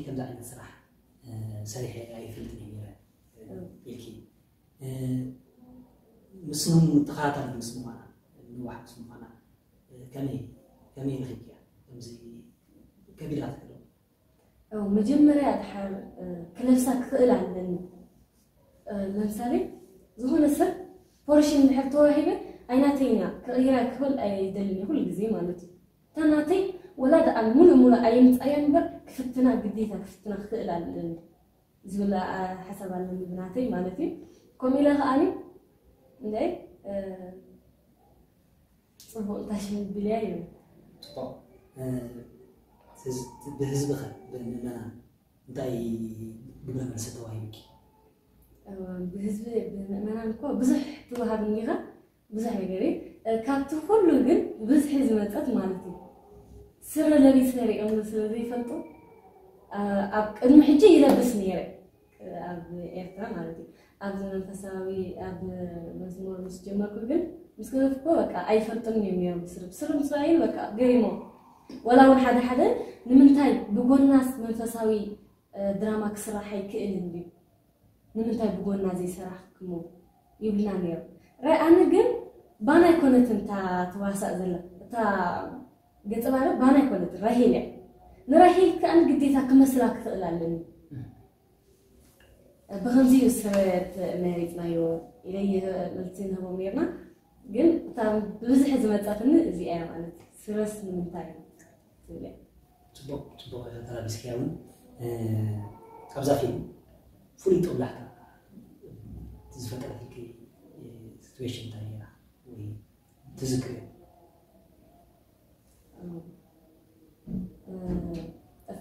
ከምዚ ዓይነት ስራሕ ሰሪሐ ኣይፈልጥን እየ ነይረ ኢልኪ፣ ምስም ተኸታታሊ ምስ ምዃና፣ ንዋሕ ምስ ምዃና ከመይ ከመይ ረኺብክያ? ከምዚ ከቢድ ኣትክሎ መጀመርያ ድሓር ክለብሳ ክኽእል ኣለኒ። ለምሳሌ ዝኾነ ሰብ ፖርሽን ድሕር ተዋሂበ ኣይናተይና ክቕይራ ክኽእል ኣይደልን ኩሉ ግዜ ማለት እዩ። እታ ናተይ ወላ ደኣ ሙሉእ ሙሉእ ኣየምጻያ እምበር ክፍትና ግዴታ ክፍትና ክኽእል ኣለኒ ዝብል ሓሳብ ኣለኒ ብናተይ ማለት እዩ። ከምኡ ኢለ ከዓኒ እንደ ፅቡቅ እንታይ ሽም ብልያ እዩ። ጽቡቅ። ብህዝቢ ኸ ብምእመናን እንታይ ግብረ መልሲ ተዋሂብኪ? ብህዝቢ ብምእመናን እኮ ብዙሕ ትወሃብ እኒኻ ብዙሕ ነገር እዩ። ካብቲ ኩሉ ግን ብዝሒ ዝመፀት ማለት እዩ ስረ ለቢሰ ሪኦም ስለ ዘይፈልጡ ኣብ ቅድሚ ሕጂ ይለብስ ነይረ ኣብ ኤርትራ ማለት እዩ። ኣብዚ መንፈሳዊ ኣብ መዝሙር ምስ ጀመርኩ ግን ምስ ገደፍኩ በቃ ኣይፈልጥን እዮም ነይሮም። ስርብ ስርብ ምስ ረኣዩ በቃ ገሪሞም። ወላ እውን ሓደ ሓደ ንምንታይ ብጎናስ መንፈሳዊ ድራማ ክስራሕ ኣይክእልን ድዩ? ንምንታይ ብጎና ዘይሰራሕክሞ ይብልና ነይሮም። ራይ ኣነ ግን ባና ኣይኮነትን እታ ትዋሳእ ዘላ እታ ገጸ ባህሪ ባና ኣይኮነትን ራሄል እያ። ንራሄል ከኣ ግዴታ ክመስላ ክኽእል ኣለኒ። ብኸምዚ እዩ ስረት መሪፅናዮ ኢለየ መልሲ ንህቦም ነርና። ግን እታ ብብዝሒ ዝመፀትኒ እዚኣ እያ ማለት ስረስ ንምንታይ ትብል እያ። ፅቡቅ ፅቡቅ ተላቢስክያ እውን ኣብዛ ፊልም ፍሉይ ጦብላሕታ ዝፈጠረትልኪ ሲትዌሽን እንታይ ነይራ ወይ ትዝክርዮ?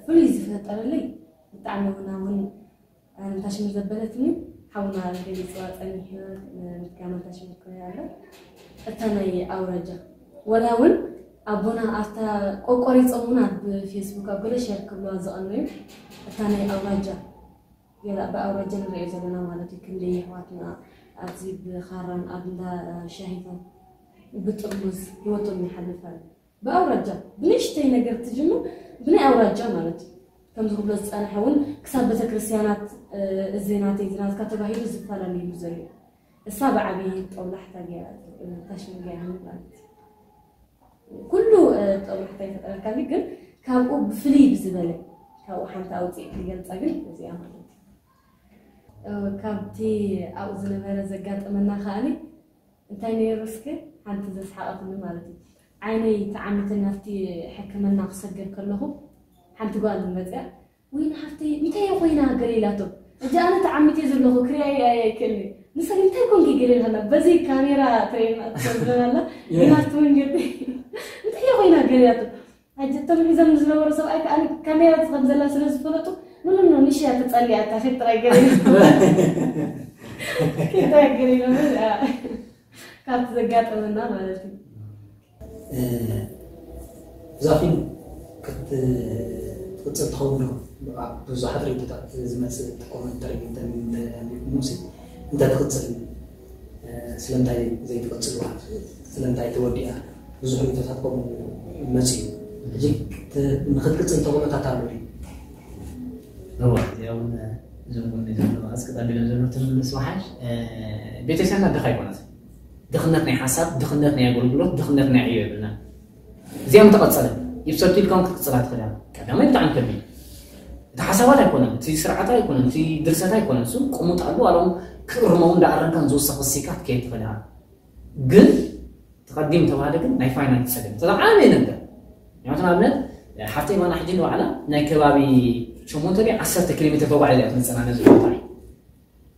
ፍሉይ ዝፈጠረለይ ብጣዕሚ እውን ኣሁን ኣንታሽም ዘበለትኒ ሓውና ገሊፅዋ ፀኒሑ ምትጋም ኣንታሽም ክኮነ ኣሎ እታ ናይ ኣውራጃ ወላ እውን ኣቦና ኣብታ ቆቆሪፆም እውን ኣብ ፌስቡክ ኣብ ገለ ሸር ክብለዋ ዝቐነዩ እታ ናይ ኣውራጃ ገላ ብኣውራጃ ንሪኦ ዘለና ማለት እዩ ክንደይ ኣሕዋትና ኣብዚ ብኻራን ኣብ እንዳ ሻሂታት ብጥርሙዝ ህይወቶም ይሓልፍ ኣሎ ብኣውራጃ ብንእሽተይ ነገር ትጅምር ብናይ ኣውራጃ ማለት እዩ። ከምዚ ክብሎ ዝፀንሐ እውን ክሳብ ቤተክርስትያናት እዚ ናተይ እዚ ናትካ ተባሂሉ ዝፈላለየሉ ዘሎ እሳ ብዓብዪ ጠውላሕታ ገይራ ታሽም ገይራ ማለት እዩ። ኩሉ ጠውላሕታ ይፈጠረልካ ግን ካብኡ ብፍልይ ብዝበለ ካብኡ ሓንቲ ኣውፅእ ክገልፃ ግን እዚኣ ማለት እዩ። ካብቲ ኣብኡ ዝነበረ ዘጋጠመና ከኣኒ እንታይ ነይሩ እስከ ሓንቲ ዘስሓቐትኒ ማለት እዩ። ዓይነይ ተዓሚተኒ ኣብቲ ሕክምና ክሰግር ከለኹ ሓንቲ ጓል መፅያ ወይ ንሓፍተይ እንታይ ኮይና ገለ ኢላቶ እጂ ኣነ ተዓሚተ ዘለኹ ክሪኣይ ኣይክእል ንሰብ እንታይ ኮንኪ ገለ ኢልሃላ በዚ ካሜራ ትረይና ትሰብረናላ ግን ኣብቲ መንገዲ እንታይ ኮይና ገለ ኢላቶ ሕጂ እቶም ሒዞም ዝነበሩ ሰብኣይ ከዓ ካሜራ ከም ዘላ ስለ ዝፈለጡ ምንም ነው ንሽ ተፀሊያ እታ ፌት ጥራይ ገለ ኬታ ገለ ካብቲ ዘጋጠመና ማለት እዩ። እዛ ፊልም ክትቅፅል ትኸውን ዶ? ብዙሓት ርእቶታት ዝመፅእ ኮመንተሪ ሙሴ እንተትቕፅል ስለምንታይ ዘይትቕፅልዋ ስለምንታይ ተወዲኣ ብዙሕ ርእቶታት ከምኡ መፅኡ ሕጂ ንክትቅፅል ተኽእሎታት ኣሎ ድዩ? እዋ እዚኣ እውን እዞም ጎኒ ዘለዉ ኣስቀጣቢሎም ዘለዉ ትምልስ ወሓሽ ቤተክርስትያንና ድኻ ኣይኮነት ድኽነት ናይ ሓሳብ ድኽነት ናይ ኣገልግሎት ድኽነት ናይ ዕዮ የብልና እዚኣ ምተቐፀለ ይብሰቱ ኢልካ ክትቅፅላ ትኽእል ቀዳማይ ብጣዕሚ ከቢድ እቲ ሓሳባት ኣይኮነን እቲ ስርዓት ኣይኮነን እቲ ድርሰት ኣይኮነን እሱ ቅሙጥ ኣሉ ኣሎም ክእርመው እንዳኣረምካን ዝወሰኽ ሲካ ክትከይድ ትኽእል ግን ተቐዲም ተባሃለ ግን ናይ ፋይናንስ ፀገም ተዛዓበየ ነገር ምክንያቱ ንኣብነት ሓፍተይ ማና ሕጂ ንባዕላ ናይ ከባቢ ሸሞንተ ድዩ ዓሰርተ ኪሎ ሜትር ተጓዒዛ እያ ትመፅና ነዚ ቦታ እዩ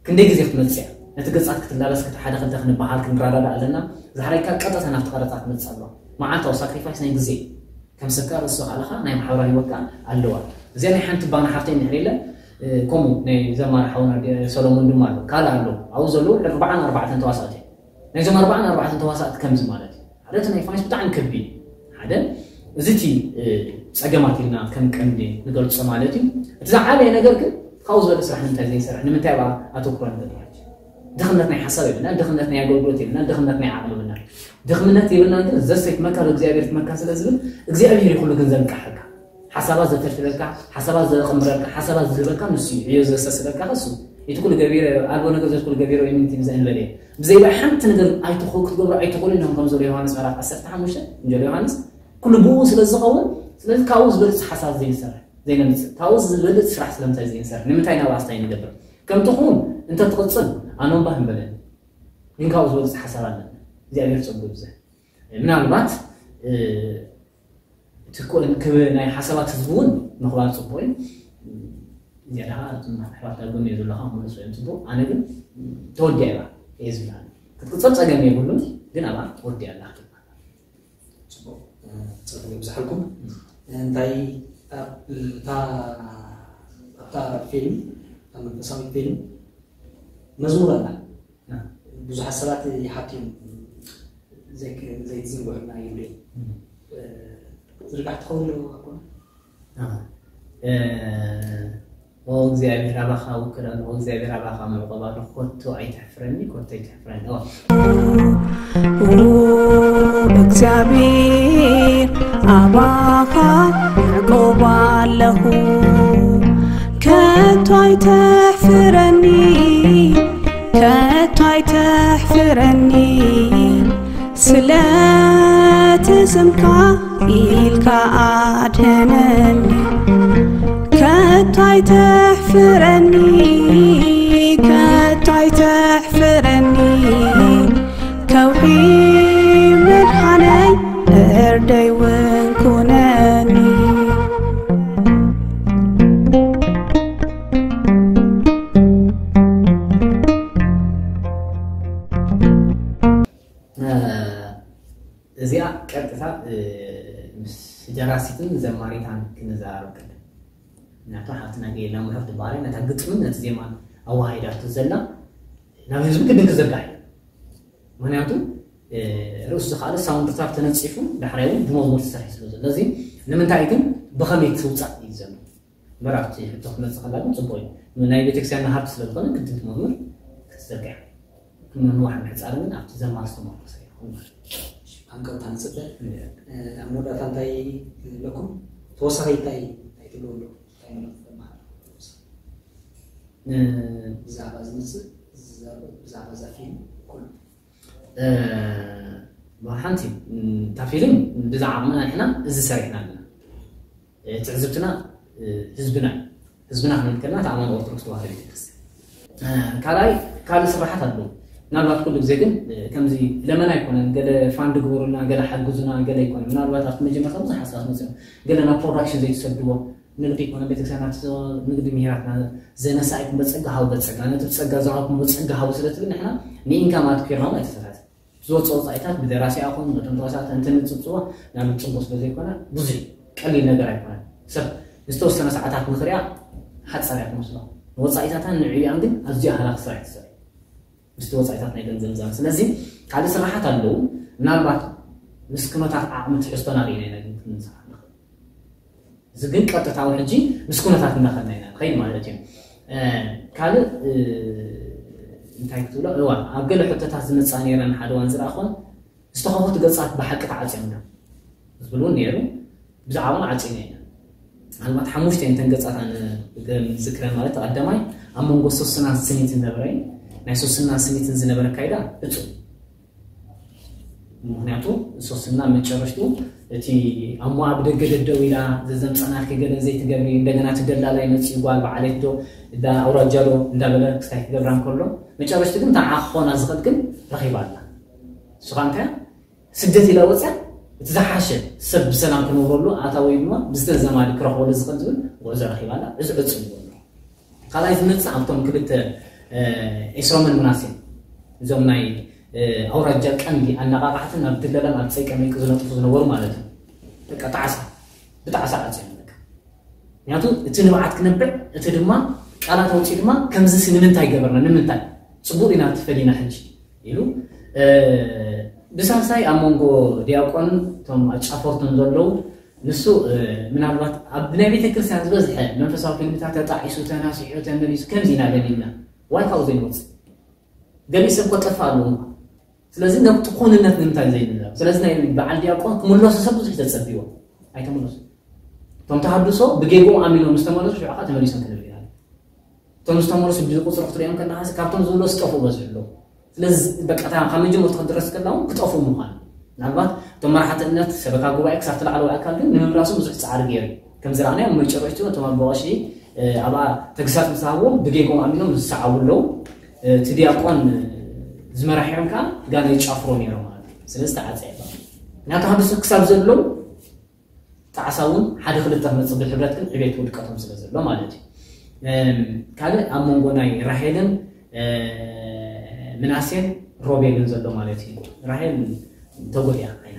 ክንደይ ግዜ ክትመፅእ እያ ነቲ ገፃት ክትላበስ ክቲ ሓደ ክልተ ክንበሃል ክንረዳዳ ኣለና ዝሓረግካ ቀጥታ ናብቲ ቀረፃ ክትመፅእ ኣለዋ መዓልታዊ ሳክሪፋይስ ናይ ግዜ ከም ሰብካ ርእሲ ካልኻ ናይ ማሕበራዊ ህይወትካ ኣለዋ እዚኣ ናይ ሓንቲ ባና ሓፍተይ እንድሕር የለ ከምኡ ናይ ዘማሪ ሓውና ሰሎሞን ድማ ኣሎ ካልእ ኣሎ ኣብኡ ዘለዉ ኣርባዓን ኣርባዕተን ተዋሳእቲ ናይዞም ኣርባዓን ኣርባዕተን ተዋሳእቲ ከምዚ ማለት እዩ ሓደ እቲ ናይ ፋይናንስ ብጣዕሚ ከቢድ ሓደ እዚ እቲ ፀገማት ኢልና ከም ቀንዲ ንገልፆ ማለት እዩ እቲ ዝዓበየ ነገር ግን ካብኡ ዝበለ ስራሕ ንምንታይ ዘይሰርሕ ንምንታይ ኣ ኣተኩሮ ንገር ማለት እዩ ድኽነት ናይ ሓሳብ የብልና ድኽነት ናይ ኣገልግሎት የብልና ድኽነት ናይ ዓቕሚ የብልና ድኽምነት የብልና ግን ዘሰይትመካ እግዚኣብሔር ትመካ ስለ ዝብል እግዚኣብሔር ይኩሉ ግን ዘንቃሓካ ሓሳባት ዘፈልፍለልካ፣ ሓሳባት ዘቐምረልካ፣ ሓሳባት ዝህበካ ንሱ እዩ። ዕዮ ዘሰስለልካ እሱ። እቲ ኩሉ ገቢረ ኣልቦ ነገር ዘት ኩሉ ገቢረ ወይ ምንትን ዘእንበለ ብዘይባ ሓንቲ ነገር ኣይትኽእሉ ክትገብሩ ኣይትኽእሉ ኢሎም ከም ዘሎ ዮሃንስ ምዕራፍ ዓሰርተ ሓሙሽተ እንጀሎ ዮሃንስ ኩሉ ብኡ ስለ ዝኸውን። ስለዚ ካብኡ ዝበልፅ ሓሳብ ዘይንሰርሕ ዘይነምፅእ ካብኡ ዝበልፅ ስራሕ ስለምንታይ ዘይንሰርሕ ንምንታይ ናብ ኣስታይ ንገብር? ከምቲ ኹን እንተትቕፅል ኣኖምባህ ንበለን። ግን ካብኡ ዝበልፅ ሓሳብ ኣለና። እግዚኣብሔር ፀጉ ይብዝሕ። ምናልባት እቲ ኮ- ክብ- ናይ ሓሳባት ህዝቢ እውን ምኽባር ፅቡቅ እዩ። እዚኣ ደኻ ኣሕዋት ዳጎን እዩ ዘለኻ ምሉስ ወይም ፅቡቅ። ኣነ ግን ተወዲያ እያ እየ ዝብላ ክትቅፅል ፀገም የብሉን። ግን ኣብኣ ተወዲያ ኣላ ክትባል። ፅቡቅ። ፀጉ ይብዝሓልኩም። እንታይ ኣብታ ኣብታ ፊልም ኣብ መንፈሳዊ ፊልም መዝሙር ኣላ። ብዙሓት ሰባት ይሓትዮም ዘይትዝንግዑና ይብሉ እዮም። ዝርጋሕ ትኸውን ኣለዎ ኣኮነ እግዚኣብሔር ኣባኻ ውክል ኣለኹ እግዚኣብሔር ኣባኻ መዕቆብ ኣለኹ ኮቶ ኣይትሕፍረኒ ኮቶ ኣይትሕፍረኒ እግዚኣብሔር ኣባኻ መዕቆብ ኣለኹ ከቶ ኣይትሕፍረኒ ከቶ ኣይትሕፍረኒ ስለቲ ስምካ ኢልካ ኣድሕነኒ ከቶ ኣይትሕፍረኒ ከቶ ኣይትሕፍረኒ ከውሒ መድሓነይ እርደይ እውን ኩነኒ እዚኣ ቀጥታ ምስ ደራሲትን ዘማሪታን ክንዘራረብ ከለና ምክንያቱ ሓፍትና ገየላ ምሕረት ትበሃል ነታ ግጥምን ነቲ ዜማን ኣወሃሂዳቶ ዘላ ናብ ህዝቢ ግድን ክዘርጋሕ እዩ ምክንያቱ ርእሱ ዝኸኣለ ሳውንድ ትራክ ተነፂፉ ዳሕራይ እውን ብመዝሙር ትሰርሒ ስለ ዘሎ እዚ ንምንታይ ግን ብኸመይ ትውፃእ እዩ ዘሎ እምበር ኣብቲ ሕቶ ክመፅእ ከላ ግን ፅቡቅ እዩ ናይ ቤተክርስትያንና ሃብቲ ስለዝኮነ ግድን መዝሙር ክትዘርግሕ ክንንዋሕ ምሕፃር ግን ኣብቲ ዘማር ዝተመርኮሰ ይኸውን ማለት እዩ ሃንቀውታ ንፅበ ኣብ መወዳእታ እንታይ ኣለኩም ተወሳኺ እንታይ እንታይ ትብሉ ኣሎ እንታይ መልእኽቲ ተመሃር ብዛዕባ ዝመፅእ ብዛዕባ እዛ ፊልም ኩሉ ብሓንቲ እታ ፊልም ብዛ ዓቕምና ንሕና እዚ ሰሪሕና ኣለና ትዕዝብትና ህዝብና እዩ ህዝብና ክንብል ከለና ተኣማን ኦርቶዶክስ ተዋህዶ ቤተክርስትያን ካልኣይ ካልእ ስራሓት ኣለዉ ምናልባት ኩሉ ግዜ ግን ከምዚ ለመና ኣይኮነን ገለ ፋንድ ግበሩልና ገለ ሓግዙና ገለ ኣይኮነን ምናልባት ኣብቲ መጀመርታ ብዙሕ ሓሳባት መፅኦም ገለ ናብ ፕሮዳክሽን ዘይትሰድዎ ንግዲ ይኮነ ቤተክርስትያን ኣብቲ ንግዲ ምሂራትና ዘነሳ ኣይኩም በፀጋ ሃቡ በፀጋ ነቲ ብፀጋ ዝሃብኩም በፀጋ ሃቡ ስለ ትብል ንሕና ንኢንካም ኣትኪርና ኣይተሰራት ዝወፅኦ ወፃኢታት ብደራሲ ኣኹም ነቶም ተዋሳእቲ እንተንፅብፅቦ ናብ ፅቡቅ ስለ ዘይኮነ ብዙሕ ቀሊል ነገር ኣይኮነን ሰብ ዝተወሰነ ሰዓታት ንክሪኣ ሓፃር እያ ትመስሎ ንወፃኢታታን ንዕብያን ግን ኣዝዩ ኣህላክ ስራሕ ትሰርሕ ምስቲ ወፃኢታት ናይ ገንዘብ ዛን ስለዚ ካልእ ስራሓት ኣለዉ ምናልባት ምስ ኩነታት ዓቕሚ ትሕዝቶና ርኢና ኢና ግን ክንስራሕ ንኽእል እዚ ግን ቀጥታዊ ሕጂ ምስ ኩነታት እናኸድና ኢና ንኸይድ ማለት እዩ ካልእ እንታይ ክትብሎ እዋ ኣብ ገለ ሕቶታት ዝመፃ ነይረን ሓደ ዋን ዝረኣኹን ዝተኸፈቱ ገፃት ብሓቂ ተዓፅዮም ዶ ዝብል እውን ነይሩ ብዛዕባን ዓፂና ኢና ምናልባት ሓሙሽተ እንተን ገፃት ዝክረን ማለት ቀዳማይ ኣብ መንጎ ሶስናን ስኒትን ዝነበረ ናይ ሶስናን ስኒትን ዝነበረ ካይዳ እፁ ምክንያቱ ሶስና መጨረሽቱ እቲ ኣሞ ኣብ ደገ ደደው ኢላ ዘዘምፀናኪ ገለ ዘይትገብሪ እንደገና ትደላላይ መፅኡ ጓል በዓሌት ዶ እንዳ ኣውራጃ ዶ እንዳበለ ክስታይ ክገብራ እንከሎ መጨረሽቲ ግን ተዓኾና ዝኽእል ግን ረኺባ ኣላ ንስኻ እንታይ ስደት ኢላ ወፅያ እቲ ዝሓሸ ሰብ ብሰላም ክነብረሉ ኣታ ወይ ድማ ብዝተዘማዲ ክረኽበሉ ዝኽእል ዝብል ጉዕዞ ረኺባ ኣላ እዚ ዕፁ ይበሉ ካልኣይ ዝመፅእ ኣብቶም ክልተ ኤስሮምን ምናሴን እዞም ናይ ኣውራጃ ቀንዲ ኣነቃቃሕትን ኣብ ድለላን ኣብ ፀይቀ መይቂ ዝነጥፉ ዝነበሩ ማለት እዩ በቃ ጣዕሳ ብጣዕሳ ዓፅዮም በቃ ምክንያቱ እቲ ንብዓት ክነብዕ እቲ ድማ ቃላት ኣውፅኡ ድማ ከምዚ ንምንታይ ገበርና ንምንታይ ፅቡቅ ኢና ትፈሊና ሕጂ ኢሉ ብሳልሳይ ኣብ መንጎ ዲያቆን እቶም ኣጫፈርቶም ዘለዉ ንሱ ምናልባት ኣብ ናይ ቤተ ክርስቲያን ዝበዝሐ መንፈሳዊ ፊልምታት ተጣዒሱ ተናሲሑ ተመሊሱ ከምዚ ኢና ደሊልና ዋይ ካብኡ ዘይንወፅእ ገሊእ ሰብ ኮጠፋ ኣለዉ እኳ ስለዚ ነብቲ ኩንነት ንምንታይ ዘይንዛረብ ስለዚ ናይ በዓል ዲያቆን ክምለሱ ሰብ ብዙሕ ተፀቢዎ ኣይተመለሱ እቶም ተሃድሶ ብጌግኦም ኣሚኖም ምስ ተመለሱ ሽዑ ከዓ ተመሊሶም ክንርኢ ኢና። እቶም ዝተመለሱ ብቁፅሪ ክትሪኦም ከለካ ካብቶም ዝበለሱ ዝጠፍኡ በዝሑ ኣለዉ። ስለዚ በቃ ካብ መጀመርታ ክትድረስ ከላ እውን ክጠፍኡ ምዃኑ፣ ምናልባት እቶም መራሕቲ እምነት ሰበካ ጉባኤ ክሳብ እቲ ላዕለዋይ ኣካል ግን ንምምላሶም ብዙሕ ፃዕሪ ገይሩ እዩ። ከም ዝረኣናዮ ኣብ መጨረሽቱ እቶም ኣቦ ቀሺ ኣብኣ ተግሳፅ ምስ ሃብዎም ብጌጎም ኣሚኖም ዝሰዓቡ ኣለዉ። እቲ ዲያቆን ዝመራሒኦም ከዓ ጋና ይጫፍሮ ነይሮም ማለት እዩ። ስለዚ ተዓፀ። ናተሃድሶ ክሳብ ዘለዉ ጣዕሳ እውን ሓደ ክልተ ክመፅእ ብሕብረት ግን ዕቤት ውድቀቶም ስለ ዘሎ ማለት እዩ። ካልእ ኣብ መንጎ ናይ ራሄልን ምናሴን ሮቤልን ዘሎ ማለት እዩ። ራሄል ተጎድያ ዓይና።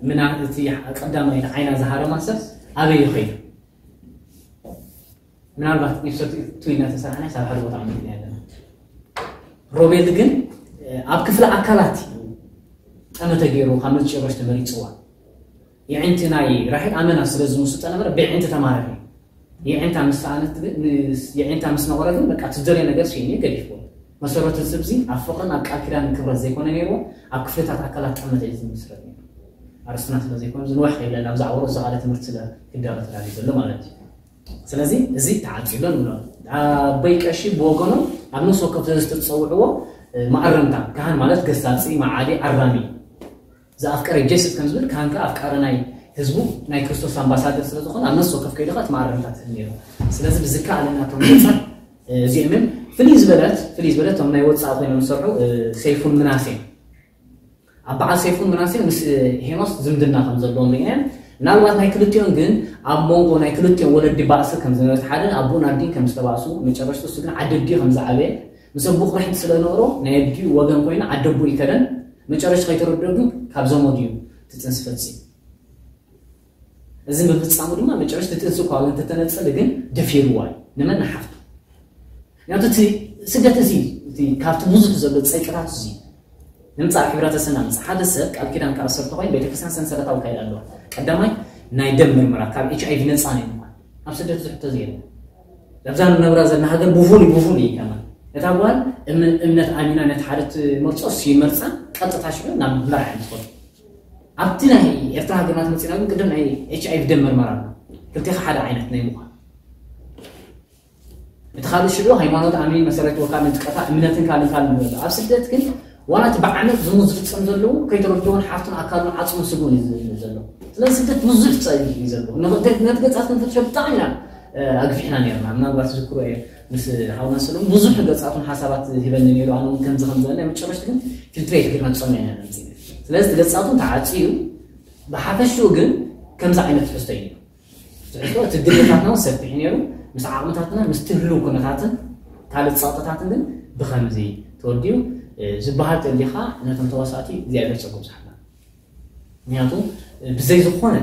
ምና እቲ ቀዳማይ ዓይና ዝሃረማ ሰብ ኣበይ ይኸይዱ? ምናልባት ኢፕሶድ ቱ ኢልና ተሰራሕና ሳብ ሓደ ቦታ ምክንያ ኣለና። ሮቤል ግን ኣብ ክፍለ ኣካላት እዩ ጠመተ ገይሩ ካብ መጨረሽ ተመሪፅዋ። የዒንቲ ናይ ራሄል ኣመና ስለ ዝምስጦ ነበረ። ብየዒንቲ ተማረኸ። የዒንታ ምስ ሰኣነት ግን የዒንታ ምስ ነቆረ ግን በቃ ትደልዮ ነገር ስኢኑ ገዲፍዎ። መሰረቱ ስብዚ ኣብ ፍቕርን ኣብ ቃል ኪዳን ክብረት ዘይኮነ ነይርዎ፣ ኣብ ክፍልታት ኣካላት ጠመተ እዩ ዝምስረት ነይሩ። ኣርስትና ስለ ዘይኮነ ዝንዋሕ ከይብለና ብዛዕባ ርእሱ ካልእ ትምህርቲ ስለ ክዳሎ ተዳልዩ ዘሎ ማለት እዩ። ስለዚ እዚ ተዓፂሎ ንብሎ። ኣቦይ ቀሺ ብወገኖም ኣብ ነፍሲ ወከፍ ዘዝተፀውዕዎ መኣረምታ፣ ካህን ማለት ገሳፂ፣ መዓዲ፣ ኣራሚ፣ ዘኣፍቀረ ጀስት ከም ዝብል ካህን ከኣ ኣፍቃሪ ናይ ህዝቡ ናይ ክርስቶስ ኣምባሳደር ስለ ዝኾነ ኣብ ነፍሲ ወከፍ ከይዱ ከኣ እቲ መኣረምታ ትህብ ነይሩ። ስለዚ ብዝከኣለና እቶም ገፃት እዚኦምን ፍልይ ዝበለት ፍልይ ዝበለት እቶም ናይ ወፃኢ ኮይኖም ዝሰርሑ ሰይፉን ምናሴን ኣብ በዓል ሰይፉን ምናሴን ምስ ሄኖስ ዝምድና ከም ዘለዎም ርኢና ኢና። ምናልባት ናይ ክልቲኦም ግን ኣብ መንጎ ናይ ክልቲኦም ወለዲ ባእሲ ከም ዝነበረ፣ ሓደ ኣቦን ኣዲን ከም ዝተባእሱ፣ መጨረሽቱ እሱ ግን ዓዲ ኣዲኡ ከም ዝዓበየ፣ ምስ ኣቦ ቅርሕንቲ ስለ ዝነበሮ ናይ ኣዲኡ ወገን ኮይኑ ዓዲ ኣቦ ይከደን። መጨረሽቱ ከይተረድኦ ግን ካብ ዘመዱ እዩ እቲ ጥንሲ ፈፂሙ። እዚ ምፍፃሙ ድማ መጨረሽቲ እቲ እንስኳ እውን እንተተነፀለ ግን ደፊርዋ እዩ። ንመን? ንሓፍቱ። ምክንያቱ እቲ ስደት እዚ እቲ ካብቲ ብዙሕ ዘሎ ፀይቅታት እዚ ንምፃእ ሕብረተሰብና ምፃእ ሓደ ሰብ ቃል ኪዳን ካብ ሰርተ ኮይኑ ቤተክርስትያን ሰንሰለታዊ ካይዳ ኣለዋ። ቀዳማይ ናይ ደም ምርመራ ካብ ኤች ኣይቪ ነፃ ናይ ምኳን ኣብ ስደት ዝሕቶ እዚ የለን። ኣብዛ ንነብራ ዘለና ሃገር ብፉሉይ ብፉሉይ እዩ ከማን እታ ጓል እምነት ኣሚና ነቲ ሓደ ትመርፆ እሱ ይመርፃ ቀጥታ ሽዑ ናብ መርዓ ትኸዱ። ኣብቲ ናይ ኤርትራ ሃገርና ትመፅና ግን ቅድም ናይ ኤች ኣይቪ ደም መርመራ ኣሎ። ክልቴኻ ሓደ ዓይነት ናይ ምዃን እቲ ካልእ ሽዑ ሃይማኖት ኣሚን መሰረት ወካ ንጥቀታ እምነትን ካልእ ካልእ ንብሎ ኣብ ስደት ግን ዋላ እቲ ብዓመት ዝሙት ዝፍፀም ዘለዉ ከይተረድኦን ሓፍቱን ኣካሉን ዓፅሙን ስጉን እዩ ዝብል ዘሎ። ስለዚ ስደት ብዙሕ ፀግ እዩ ዘሎ። ነቲ ገፃት ክንፍትሾ ብጣዕሚ ኢና ኣግፊሕና ነርና። ምናልባት ዝክሮ እየ ምስ ሓውና ሰሎም ብዙሕ ገፃቱን ሓሳባት ሂበኒ ነይሩ። ኣነ እውን ከምዚ ከምዚ ናይ መጨረሽቲ ግን ፊልትሬት ጌርና ጸሚዕና ኢና መፂና። ስለዚ እቲ ገፃቱን ተዓፅዩ ብሓፈሽኡ ግን ከምዚ ዓይነት ትሕዝቶ እዩ። ትሕዝቶ እቲ ድሌታትና እውን ሰፊሕ ነይሩ። ምስ ዓቕምታትና ምስ ትህልው ኩነታትን ካልእ ፀቕጥታትን ግን ብኸምዚ ተወዲኡ ዝበሃል ተሊኻ ነቶም ተዋሳእቲ እግዚኣብሔር ጸጉ ብዝሓና። ምክንያቱ ብዘይ ዝኾነ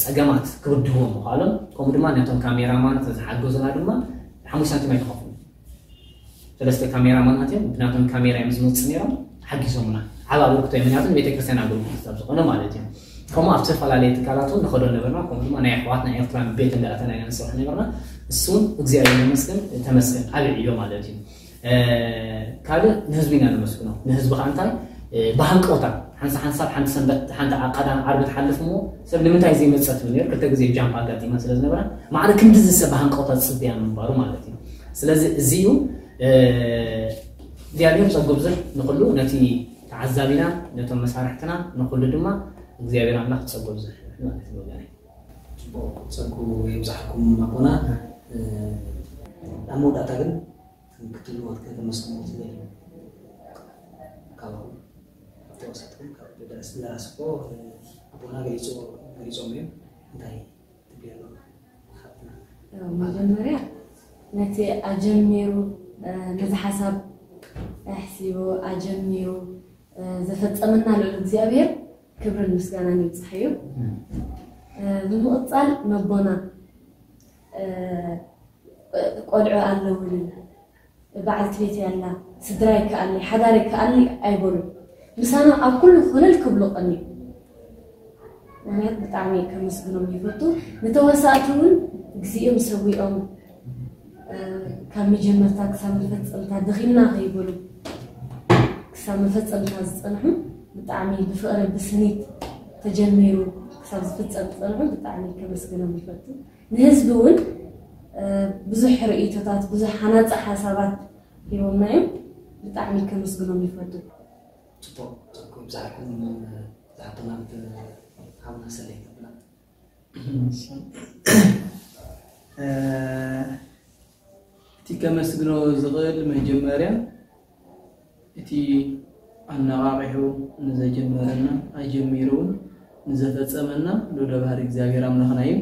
ፀገማት ክብድህዎም ምኽኣሎም ከምኡ ድማ ነቶም ካሜራማን ተዝሓገዙና ድማ ሓሙሽተ ሳንቲም ኣይተኸፍሉ። ሰለስተ ካሜራማናት እዮም ብናቶም ካሜራ እዮም ዝመፅእ ነይሮም ሓጊዞምና። ዓብ ኣበርክቶ እዩ ምክንያቱ ንቤተክርስትያን ኣገልግሎት ካብ ዝኾነ ማለት እዩ። ከምኡ ኣብ ዝተፈላለየ ትካላት እውን ንኸዶ ነበርና። ከምኡ ድማ ናይ ኣሕዋትና ኤርትራን ቤት እንዳኣተና ኢና ንሰርሕ ነበርና። እሱ እውን እግዚኣብሔር ይመስገን ተመስገን ዓብ ዕዮ ማለት እዩ። ካልእ ንህዝቢ ኢና ነመስግኖ። ንህዝቢ ከዓ እንታይ ብሃንቀውታ ሓንሳ ሓንሳብ ሓንቲ ሰንበት ሓንቲ ቀዳም ዓርቢ ትሓልፍ እሞ ሰብ ንምንታይ ዘይመፀ ትብል ነይሩ። ክልተ ግዜ ጃምፕ ኣጋጢማ ስለ ዝነበራ ማዕረ ክንድዚ ሰብ ብሃንቀውታ ዝፅበያ ምንባሩ ማለት እዩ። ስለዚ እዚ እዩ እግዚኣብሔር ፀጉ ብዙሕ ንኩሉ ነቲ ተዓዛቢና ነቶም መሳርሕትና ንኩሉ ድማ እግዚኣብሔር ኣምላኽ ፀጉ ብዙሕ ይበል ማለት እዩ ወገነይ። ፅቡቅ ፀጉ የብዛሕኩም ኣቦና። ኣብ መወዳእታ ግን ክትብልዎ ከተመስግንዎ ትደልዩ ካብኹም ካብ ተዋሳእትኩም ካብ ደራሲ ደራሲ እኮ ኣቦና ገሊፆም እዮም። እንታይ ትብሊ ኣሎ ሓፍትና? መጀመርያ ነቲ ኣጀሚሩ ነዚ ሓሳብ ኣሕሲቡ ኣጀሚሩ ዘፈፀመና ልዑል እግዚኣብሔር ክብርን ምስጋናን ይብፃሕ እዩ። ብምቕፃል መቦና ቆልዑ ኣለውኒ በዓልቲ ቤት ያላ ስድራ ይከኣለይ ሓዳር ይከኣለይ ኣይበሉ ምሳና ኣብ ኩሉ ኮለል ክብሉ ቀኒ ምክንያት ብጣዕሚ ከመስግኖም ይፈቱ። ንተዋሳእቲ እውን ግዚኦም ሰዊኦም ካብ መጀመርታ ክሳብ መፈፀምታ ደኺምና ከይበሉ ክሳብ መፈፀምታ ዝፀንሑ ብጣዕሚ ብፍቕሪ ብስኒት ተጀሚሩ ክሳብ ዝፍጸም ዝጸንሑ ብጣዕሚ ከመስግኖም ይፈቱ። ንህዝቢ እውን ብዙሕ ርእይቶታት፣ ብዙሕ ሃናጺ ሓሳባት ሂቦምና እዮም። ብጣዕሚ ከመስግኖም ይፈቱ። ጽቡቕ። ጸጉ ይብዛሕኩም። ዝሓተና ሓብና ሰለይ ተብላ። እቲ ከመስግኖ ዝኽእል መጀመርያ እቲ ኣነቓቒሑ ንዘጀመረና ኣጀሚሩ እውን ንዘፈጸመና ልዑለ ባህሪ እግዚኣብሔር ኣምላኽና እዩ።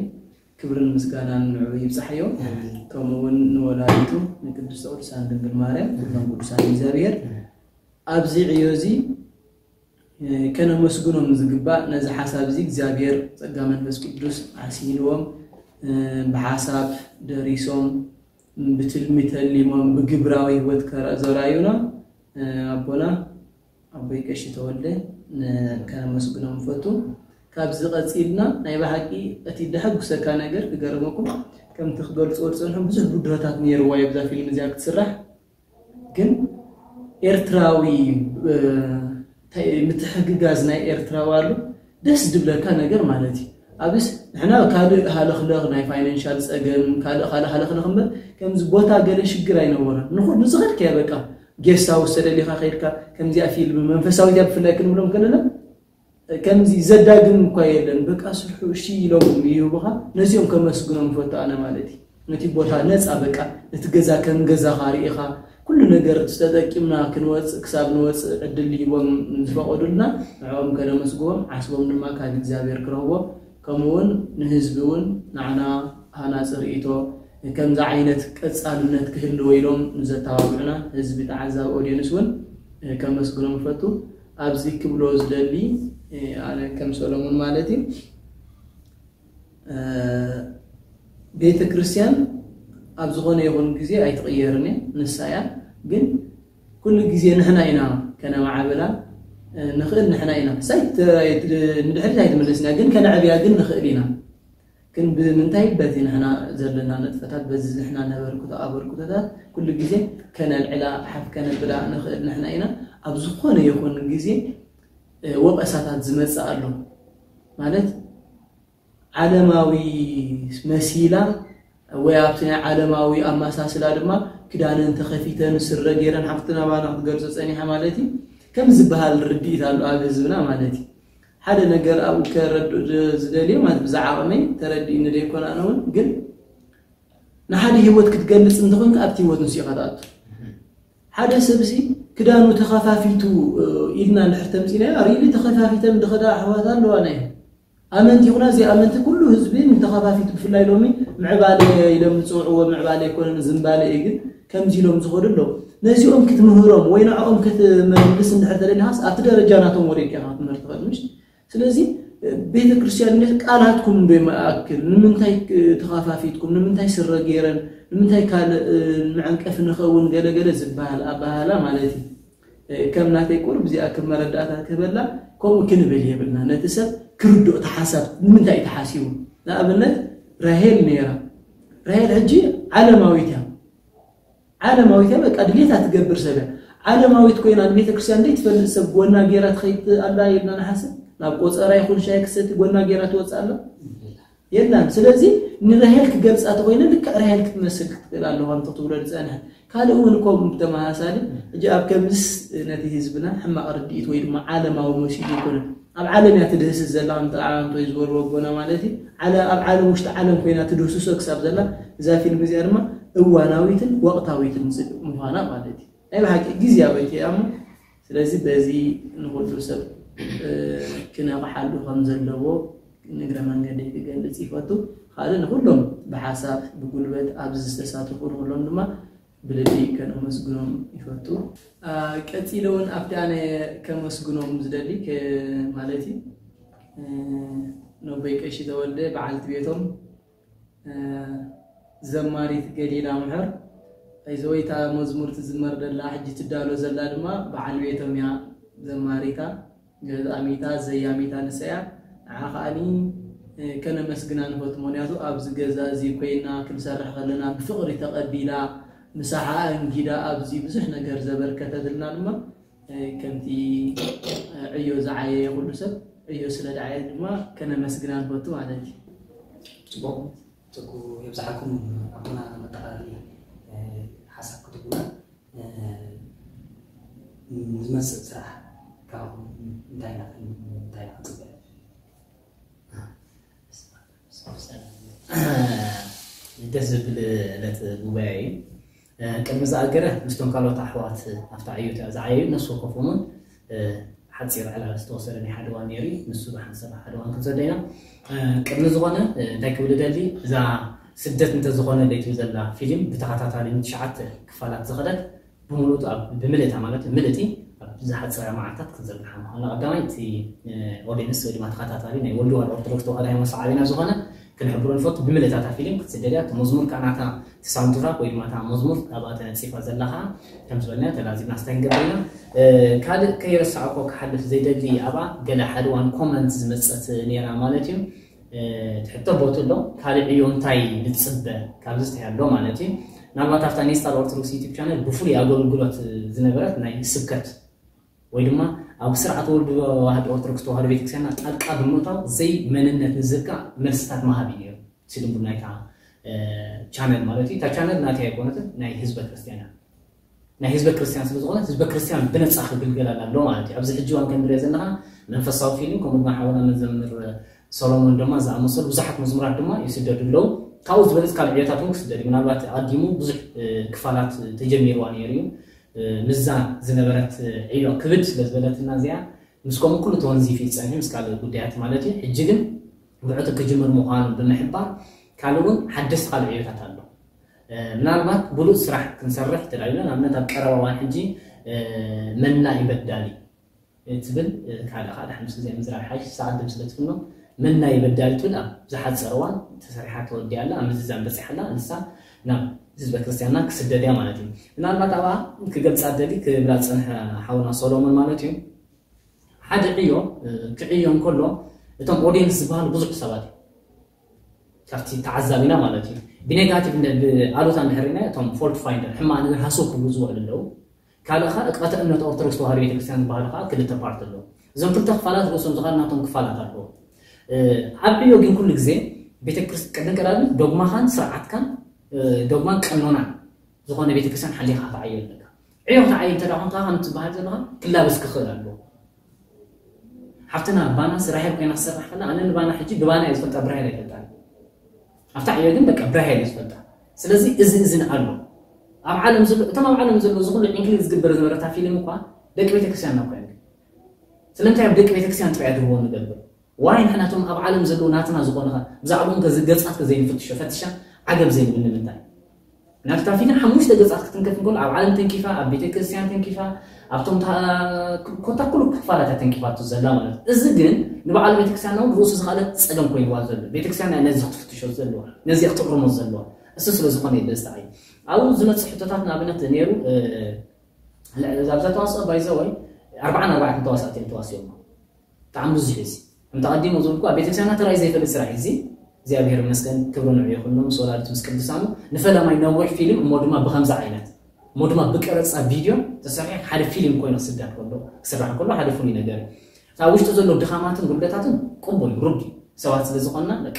ክብርን ምስጋናን ንዕኡ ይብጻሕዮ። ከምኡ እውን ንወላዲቱ ንቅድስተ ቅዱሳን ድንግል ማርያም ኩሎም ቅዱሳን እግዚኣብሔር ኣብዚ ዕዮ እዚ ከነመስግኖም ዝግባእ ነዚ ሓሳብ እዚ እግዚኣብሔር ጸጋ መንፈስ ቅዱስ ዓሲልዎም ብሓሳብ ደሪሶም ብትልሚ ተሊሞም ብግብራዊ ህይወት ዘራዩና ኣቦና ኣቦይ ቀሺ ተወልደ ከነመስግኖም ንፈቱ። ካብዚ ቀጺልና ናይ ብሓቂ እቲ ደሐጉሰካ ነገር ክገርመኩም ከምቲ ክገልጽዎ ዝጸንሑ ብዙሕ ብድሆታት ነይርዋ እዩ ብዛ ፊልም እዚኣ ክትስራሕ ግን ኤርትራዊ ምትሕግጋዝ ናይ ኤርትራዊ ኣሎ ደስ ዝብለካ ነገር ማለት እዩ። ኣብስ ንሕና ካልእ ሃለኽለኽ ናይ ፋይናንሻል ጸገም ካልእ ካልእ ሃለኽለኽ እምበር ከምዚ ቦታ ገለ ሽግር ኣይነበረን። ንኹ ንዝኸድካዮ በቃ ጌስት ሃውስ ተደሊኻ ከይድካ ከምዚኣ ፊልም መንፈሳዊት እያ ብፍላይ ክንብሎም ከለና ከምዚ ዘዳግም እኳ የለን። በቃ ስርሑ እሺ ኢሎም ይህቡኻ። ነዚኦም ከመስግኖም ፈቱ ኣነ ማለት እዩ። ነቲ ቦታ ነፃ በቃ ነቲ ገዛ ከም ገዛኻ ርኢኻ ኩሉ ነገር ተጠቂምና ክንወፅእ ክሳብ ንወፅእ ዕድል ሂቦም ዝፈቐዱልና ንዕኦም ከነመስግቦም ዓስቦም ድማ ካብ እግዚኣብሔር ክረኽቦ ከምኡ እውን ንህዝቢ እውን ንዓና ሃናፂ ርእይቶ ከምዚ ዓይነት ቀፃልነት ክህልዎ ኢሎም ንዘተባብዑና ህዝቢ ተዓዛቢ ኦድየንስ እውን ከመስግኖም ፈቱ። ኣብዚ ክብሎ ዝደሊ ኣነ ከም ሰሎሙን ማለት እዩ ቤተ ክርስቲያን ኣብ ዝኾነ ይኹን ግዜ ኣይትቕየርን እየ ንሳ እያ ግን ኩሉ ግዜ ንሕና ኢና ከነማዕብላ ንኽእል ንሕና ኢና ንድሕሪት ኣይትመለስና ግን ከነዕብያ ግን ንኽእል ኢና ግን ብምንታይ በቲ ንሕና ዘለና ንጥፈታት በዚ ንሕና ነበርክቶ ኣበርክቶታት ኩሉ ግዜ ከነልዕላ ሓፍ ከነብላ ንኽእል ንሕና ኢና ኣብ ዝኾነ ይኹን ግዜ ወቐሳታት ዝመፅእ ኣሎ ማለት ዓለማዊ መሲላ ወይ ኣብቲ ናይ ዓለማዊ ኣመሳስላ ድማ ክዳነን ተኸፊተን ስረ ገይረን ሓፍትና ባና ክትገልፆ ፀኒሓ ማለት እዩ ከም ዝበሃል ርድኢት ኣሎ ኣብ ህዝብና ማለት እዩ ሓደ ነገር ኣብኡ ከረድእ ዝደልዮ ማለት ብዛዕባ ዓቕመይ ተረዲእኒ ዘይኮነ ኣነ እውን ግን ንሓደ ህይወት ክትገልፅ እንተኾይንካ ኣብቲ ህይወት ንሱ ኢኻ ትኣቱ ሓደ ሰብሲ ክዳኑ ተኸፋፊቱ ኢልና እንድሕር ተምፂናዮ ሪሊ ተኸፋፊተን ዝኸዳ ኣሕዋት ኣለዋ ናይ ኣመንቲ ይኹና ዘይኣመንቲ ኩሉ ህዝቢ ንተኸፋፊቱ ብፍላይ ሎሚ ምዕባለ ኢሎም ዝፅውዕዎ ምዕባለ ኣይኮነን ዝምባለ እዩ ግን ከምዚ ኢሎም ዝኸዱ ኣለዉ ነዚኦም ክትምህሮም ወይ ንዕኦም ክትመልስ እንድሕር ተደሊኻስ ኣብቲ ደረጃ ናቶም ወሪድካ ኢኻ ክትምህር ትኽእል ምሽ ስለዚ ቤተ ክርስቲያን ቃላትኩም እንዶ ይመኣክል ንምንታይ ተኸፋፊትኩም ንምንታይ ስረ ገይረን ንምንታይ ካልእ መዐንቀፊ ንኸውን ገለገለ ዝበሃል ኣባህላ ማለት እዩ ከም ናተይ ቁሩብ እዚኣ ከም መረዳእታ ክህበላ ከምኡ ክንብል የብልና ነቲ ሰብ ክርድኦ እቲ ሓሳብ ንምንታይ እዩ ተሓሲቡ ንኣብነት ራሄል ነይራ ራሄል ሕጂ ዓለማዊት እያ ዓለማዊት እያ በቃ ድሌታ ትገብር ሰብ እያ ዓለማዊት ኮይና ንቤተ ክርስቲያን ዘይትፈልጥ ሰብ ጎና ገይራ ትኸይድ ኣላ ኢልና ንሓስብ ናብ ቆፀራ ይኹን ሻይ ክሰቲ ጎና ገይራ ትወፅእ ኣላ የላን ስለዚ ንራሄል ክገልፃ ተኮይነ ልክዕ ራሄል ክትመስል ክትክእል ኣለዋ እንተ ትብሎ ዝፀንሐ ካልእ እውን ከምኡ ብተመሳሳሊ ሕጂ ኣብ ከምዝስ ነቲ ህዝብና ሕማቕ ርድኢት ወይ ድማ ዓለማዊ መሲሉ ይኮነ ኣብ ዓለም እያ ትድህስስ ዘላ ከምቲ ዓንቶይ ዝበልዎ ኣቦና ማለት እዩ ኣብ ዓለም ውሽጢ ዓለም ኮይና ትድህስሶ ክሳብ ዘላ እዛ ፊልም እዚኣ ድማ እዋናዊትን ወቕታዊትን ምዃና ማለት እዩ ናይ ብሓቂ ግዝያዊት እያ እሞ ስለዚ በዚ ንኩሉ ሰብ ክነቕሓሉ ከም ዘለዎ ንግረ መንገደይ ክገልፅ ይፈቱ ካልእ ንኩሎም ብሓሳብ ብጉልበት ኣብዚ ዝተሳተፉ ንኩሎም ድማ ብልቢ ከነመስግኖም ይፈቱ ቀፂለ እውን ኣብቲ ኣነ ከመስግኖም ዝደሊ ማለት እዩ ነቦይ ቀሺ ተወልደ በዓልቲ ቤቶም ዘማሪት ገሊላ ምሕር ኣይዘወይታ መዝሙር ትዝመር ደላ ሕጂ ትዳሎ ዘላ ድማ በዓል ቤቶም እያ ዘማሪታ ገጣሚታ ዘያሚታ ንሳ እያ ንዓ ከዓኒ ከነመስግና ንፈቱ ምክንያቱ ኣብዚ ገዛ እዚ ኮይና ክንሰርሕ ከለና ብፍቕሪ ተቐቢላ ምሳሓ ኣንጊዳ ኣብዚ ብዙሕ ነገር ዘበርከተትልና ድማ ከምቲ ዕዮ ዝዓየየ ኩሉ ሰብ እዩ ስለ ደዓየ ድማ ከነመስግና ንፈቱ ማለት እዩ። ጽቡቕ። ትኩ የብዝሓልኩም። ኣቦና መጠቓለሊ ሓሳብ ክትብሉና ዝመፅእ ስራሕ ካብኹም እንታይ እንታይ ክንፅበ? ደስ ዝብል ዕለት ጉባኤ እዩ። ቅድሚ ዝኣገረ ምስቶም ካልኦት ኣሕዋት ኣብታ ዕዮት እያ ዝዓየዩ። ነፍሲ ወከፎም እውን ሓፂር ዕላል ዝተወሰደ ናይ ሓደ ዋን ነይሩ እዩ። ንሱ ብሓንሳብ ሓደ ዋን ክንሰዶ ኢና። ቅድሚ ዝኾነ እንታይ ክብል ደሊ፣ እዛ ስደት እንተዝኾነ ለይትብል ዘላ ፊልም ብተኸታታሊ ንትሽዓተ ክፋላት ዝኸደት ብምሉእ ብመለታ ማለት ምልእቲ ኣብ ዝሓፀረ መዓልታት ክንዘርግሓ ምዃንና ቀዳማይ እቲ ኦዲንስ ወይ ድማ ተኸታታሊ ናይ ወልድ ዋር ኦርቶዶክስ ተዋህዶ ሃይማኖት ሰዓቢና ዝኾነ ክንሕብሮ ንፈቱ። ብመለታ እታ ፊልም ክትስደድ እያ። እቲ መዝሙር ከዓ ናታ ሳውንድትራክ ወይ ድማ እታ መዝሙር ኣብኣ ተነፂፋ ዘላ ከዓ ከም ዝበልና ተላዚብና ስታይ ንገብር ኢና። ካልእ ከይረሳዕኮ ክሓልፍ ዘይደሊ ኣብኣ ገለ ሓደ ዋን ኮመንት ዝመፀት ነይራ ማለት እዩ። ትሕቶ ቦት ኣሎ ካልእ ዕዮ እንታይ ንፅበ ካብዚ ዝተያሎ ማለት እዩ። ምናልባት ኣብታ ኔስታል ኦርቶዶክስ ዩቲብ ቻነል ብፍሉይ ኣገልግሎት ዝነበረት ናይ ስብከት ወይ ድማ ኣብ ስርዓት ወልድ ዋህድ ኦርቶዶክስ ተዋህዶ ቤተክርስትያንና ጣልቃ ብምእታው ዘይ መንነት ንዝካ መልስታት መሃብ እዩ ነይሩ። ሲድንቡል ናይታ ቻነል ማለት እዩ። እታ ቻነል ናተይ ኣይኮነትን ናይ ህዝበ ክርስትያን እያ። ናይ ህዝበ ክርስትያን ስለ ዝኾነ ህዝበ ክርስትያን ብነፃ ክግልገላል ኣሎ ማለት እዩ። ኣብዚ ሕጂ ዋን ከምንሪኦ ዘለና መንፈሳዊ ፊልም ከምኡ ድማ ሓውና መዘምር ሰሎሞን ድማ ዝኣመሰሉ ብዙሓት መዝሙራት ድማ ይስደዱ ኣለዉ። ካብኡ ዝበለፅ ካልእ ዕዮታት እውን ክስደድ እዩ። ምናልባት ኣዲሙ ብዙሕ ክፋላት ተጀሚርዋ ነይሩ እዩ። ምዛ ዝነበረት ዕዮ ክብድ ስለ ዝበለትና እዚኣ ምስ ከምኡ ኩሉ ተወንዚፍ ይፀንሕ ምስ ካልእ ጉዳያት ማለት እዩ። ሕጂ ግን ብዕቱ ክጅምር ምዃኑ ብምሕባር ካልእ እውን ሓደስቲ ካልእ ዕዮታት ኣሎ። ምናልባት ብሉፅ ስራሕ ክንሰርሕ ተዳልና ንኣብነት ኣብ ቀረባ ዋን ሕጂ መና ይበዳሊ ትብል ካልእ ካልእ ሓምስ ግዜ ምዝራብ ሓይሽ ሰዓት ድም ስለ ትፍኖ መና ይበዳሊ ትብል ኣብ ዝሓፀረ ዋን ተሰሪሓ ተወዲኣላ ኣብ ምዝዛም በፂሓላ ንሳ ናብ ህዝበ ክርስትያንና ክስደድ እያ ማለት እዩ። ምናልባት ኣብኣ ክገልፃ ደሊ ክብላ ዝፀንሐ ሓውና ሶሎሞን ማለት እዩ። ሓደ ዕዮ ክዕዮ እንከሎ እቶም ኦዲየንስ ዝበሃሉ ብዙሕ ሰባት እዩ ካብቲ ተዓዛቢና ማለት እዩ። ብኔጋቲቭ ብኣሉታ እንድሕር ርኢና እቶም ፎልት ፋይንደር ሕማቕ ነገር ሃሰው ክብሉ ዝውዕሉ ኣለዉ። ካልእ ከዓ እቅበተ እምነት ኦርቶዶክስ ተዋህዶ ቤተክርስትያን ዝበሃሉ ከዓ ክልተ ፓርት ኣለዉ። እዞም ክልተ ክፋላት ርእሶም ዝኻል ናቶም ክፋላት ኣለዎ። ኣብ ዕዮ ግን ኩሉ ግዜ ቤተክርስ ቅድም ቀዳሚ ዶግማኻን ስርዓትካን ዶግማን ቀኖናን ዝኾነ ቤተክርስትያን ሓሊኻ ክትዓዮ ኣለካ። ዕዮ ክትዓይ እንተ ደኣ ኮንካ ከም ትበሃል ዘለኻ ክላበስ ክኽእል ኣለዎ። ሓፍትና ባና ስራሒ ኮይና ትሰርሕ ከላ ኣነ ንባና ሕጂ ብባና እየ ዝፈልጣ ብራሄል ኣይፈልጣን። ኣብታ ዕዮ ግን በቃ ብራሄል እየ ዝፈልጣ። ስለዚ እዚ እዝን ኣሎ ኣብ ዓለም ዘሎ እቶም ኣብ ዓለም ዘሎ እዚ ኩሉ ኢንክሉድ ዝግበር ዝነበረታ ፊልም እኳ ደቂ ቤተክርስትያን ናብ ኮይነ ስለምንታይ ኣብ ደቂ ቤተክርስትያን ጥራይ ድህቦ ንገብር ዋይ ንሕናቶም ኣብ ዓለም ዘለዉ ናትና ዝኾነ ብዛዕባኦም ገጻት ከዘይንፍትሾ ፈትሻ ዓገብ ዘይንብል ንምንታይ ናብታ ፊልም ሓሙሽተ ገጻት ክትንከፍ እንከሎ ኣብ ዓለም ተንኪፋ ኣብ ቤተ ክርስቲያን ተንኪፋ ኣብቶም ኮታ ኩሉ ክፋላት ተንኪፋቱ ዘላ ማለት እዚ ግን ንበዓል ቤተክርስትያን እውን ርእሱ ዝኻለት ጸገም ኮይንዋ ዘሎ ቤተክርስትያን ነዚ ክትፍትሾ ዘለዋ ነዚ ክትቕርሞ ዘለዋ እሱ ስለ ዝኾነ ይበዝተዓይ ኣብኡ ዝመጽእ ሕቶታት ንኣብነት ነይሩ ኣብዛ ተዋስኦ ባይዘወይ ኣርባዓን ኣርባዕተን ተዋሳእቲ እዮም ተዋሲኦሞ ብጣዕሚ ብዙሕ እዩ እዚ ከምቲ ቀዲሞ ዝበልኩ ኣብ ቤተክርስትያንና ተራእዩ ዘይፈልጥ ስራሕ እዩ እዚ እግዚኣብሔር ይመስገን ክብሪ ንዑ ይኹን ምስ ወላዲቱ ምስ ቅዱሳኑ ንፈለማይ ነዊሕ ፊልም እሞ ድማ ብከምዚ ዓይነት እሞ ድማ ብቀረፃ ቪድዮ ተሰሪሑ ሓደ ፊልም ኮይኑ ክስዳድ ከሎ ክስራሕ ከሎ ሓደ ፍሉይ ነገር እዩ ኣብ ውሽጢ ዘሎ ድኻማትን ጉድለታትን ቅቡል እዩ ሩድ እዩ ሰባት ስለ ዝኾንና በቃ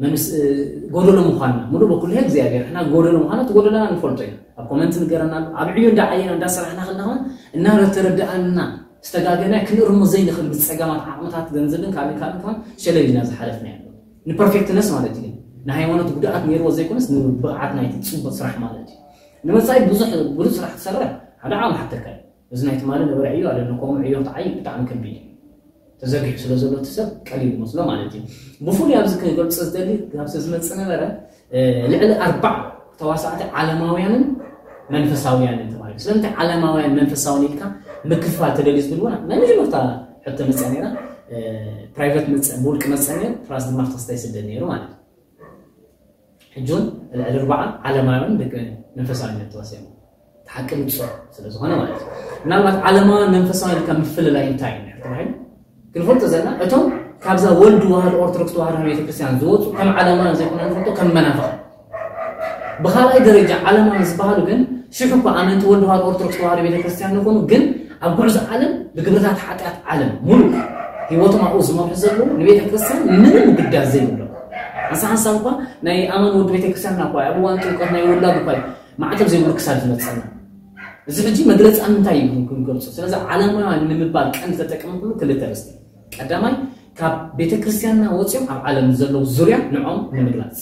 መንስ ጎደሎ ምዃንና ሙሉ በኩሉ እግዚኣብሔር ሕና ጎደሎ ምዃና እቲ ጎደሎና ንፈልጦ ኢና ኣብ ኮመንት ንገረና ኣሎ ኣብ ዕዮ እንዳዓየና እንዳሰራሕና ከለና እናተረዳእና ዝተጋገና ክንእርሞ ዘይንኽእል ምስ ፀገማት ዓቕምታት ገንዘብን ካልእ ካልእ ከን ሸለል ኢና ዝሓለፍና ያለ ንፐርፌክትነስ ማለት እዩ ንሃይማኖት ጉድኣት ነይርዎ ዘይኮነስ ንብቕዓት ናይቲ ፅቡቅ ስራሕ ማለት እዩ ንመፃኢ ብዙሕ ብሉፅ ስራሕ ትሰርሕ ሓደ ዓቕሚ ሓተካ እዩ እዚ ናይ ትማሊ ነበረ ዕዮ ኣለና ከምኡ ዕዮ ትዓይ ብጣዕሚ ከቢድ እዩ ተዘርጊሑ ስለ ዘሎ እቲ ሰብ ቀሊል ይመስሎ ማለት እዩ ብፍሉይ ኣብዚ ክገልፆ ዝደሊ ካብዚ ዝመፅእ ነበረ ልዕሊ ኣርባዕ ተዋሳእቲ ዓለማውያንን መንፈሳውያንን ተባሂሉ ስለምንታይ ዓለማውያን መንፈሳውን ኢልካ ምክፍፋል ተደልዩ ዝብል እውን ናይ መጀመርታ ሕቶ መፅያ ነይራ ፕራይቨት መፀ ብውልቂ መፀ ነይሩ ፕላስ ድማ ተክስታይ ስደድ ነይሩ ማለት እዩ ሕጂ እውን ልዕሊ ኣርባዓ ዓለማውያን ደቂ መንፈሳውያን ተዋሲኦም ተሓቂ ንጹር ስለ ዝኾነ ማለት እዩ ምናልባት ዓለማውያን መንፈሳውያን ካብ ምፍልላይ እንታይ እዩ ተባሂሉ ክንፈልጦ ዘለና እቶም ካብዛ ወልድ ዋህድ ኦርቶዶክስ ተዋህዶ ቤተክርስትያን ዝወፁ ከም ዓለማውያን ዘይኮነ ንፈልጦ ከም መናፍቕ ብኻልኣይ ደረጃ ዓለማውያን ዝበሃሉ ግን ሽሕ እኳ ኣመንቲ ወልድ ዋህድ ኦርቶዶክስ ተዋህዶ ቤተክርስትያን ንኾኑ ግን ኣብ ጉዕዞ ዓለም ብግብርታት ሓጢኣት ዓለም ሙሉእ ህይወቶም ኣብኡ ዝመርሑ ዘለዉ ንቤተ ክርስቲያን ምንም ግዳዝ ዘይብሎም። ሓንሳ ሓንሳብ እኳ ናይ ኣማን ወዲ ቤተ ክርስቲያን እኳ ኣብ እዋን ጥምቀት ናይ ውላድ እኳ ማዕተብ ዘይብሉ ክሳብ ዝመፀና። እዚ ሕጂ መግለፂ ኣብ ምንታይ እዩ ክንገልፆ? ስለዚ ዓለማውያን ንምባል ቀንዲ ተጠቀምኩሉ ክልተ ርስቲ። ቀዳማይ ካብ ቤተ ክርስቲያንና ወፂኦም ኣብ ዓለም ዘለዉ ዙርያ ንዖም ንምግላፅ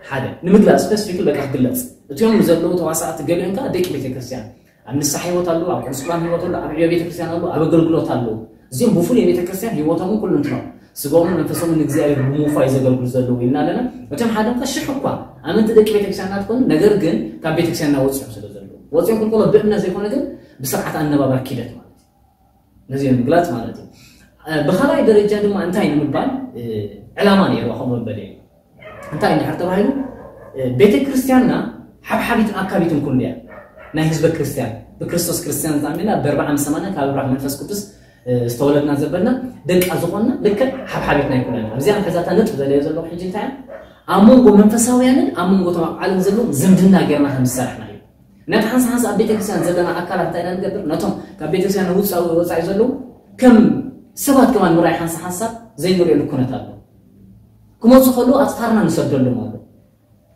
ሓደ ንምግላፅ ስፔሲፊክ በቃ ክግለፅ እቲኦም ዘለዉ ተዋሳእቲ ገሊኦም ከዓ ደቂ ቤተክርስትያን ኣብ ንስሓ ህይወት ኣለዉ ኣብ ቅዱስ ቁርባን ህይወት ኣለዉ ኣብ ዕዮ ቤተክርስትያን ኣለዉ ኣብ ኣገልግሎት ኣለዉ እዚኦም ብፍሉይ ቤተክርስትያን ህይወቶምን ኩሉ እንትኖም ስጋኦምን መንፈሶምን ንእግዚኣብሔር ብምውፋይ ዘገልግሉ ዘለዉ ኢልና ኣለና እቶም ሓደ ከ ሽሕ እኳ ኣመንቲ ደቂ ቤተክርስትያን እናትኮኑ ነገር ግን ካብ ቤተክርስትያን እናወፅኦም ስለ ዘለዉ ወፅኦም ክልኮሎ ብእምነት ዘይኮነ ግን ብስርዓት ኣነባብራ ኪደት ማለት እዩ ነዚኦም ምግላፅ ማለት እዩ ብካልኣይ ደረጃ ድማ እንታይ ንምባል ዕላማ ነይርዋ ከምኡ በለ እንታይ እንድሕር ተባሂሉ ቤተ ክርስቲያንና ሓብሓቢትን ኣካቢትን ኩሉ እያ ናይ ህዝበ ክርስቲያን ብክርስቶስ ክርስቲያን ዝኣሚና በርባዓ ምሰማና ካብ ኣብራህ መንፈስ ቅዱስ ዝተወለድና ዘበልና ደቃ ዝኾንና ልክዕ ሓብሓቢትና ይኩነና ኣብዚኣ ሕዛታ ነጥብ ዘለዮ ዘለኹ ሕጂ እንታይ ኣብ መንጎ መንፈሳውያንን ኣብ መንጎ ተባብ ዓለም ዘለዎም ዝምድና ጌርና ከም ዝሰራሕና እዩ ነቲ ሓንሳ ሓንሳ ኣብ ቤተክርስትያን ዘለና ኣካላት እንታይ ኢና ንገብር ነቶም ካብ ቤተክርስትያን ውፃኢ ወፃኢ ዘለዉ ከም ሰባት ከማን ምርኣይ ሓንሳ ሓንሳብ ዘይንሪኦ ልኩነት ኣሎ ክመፁ ከለዉ ኣፅፋርና ንሰደሎም ኣሎ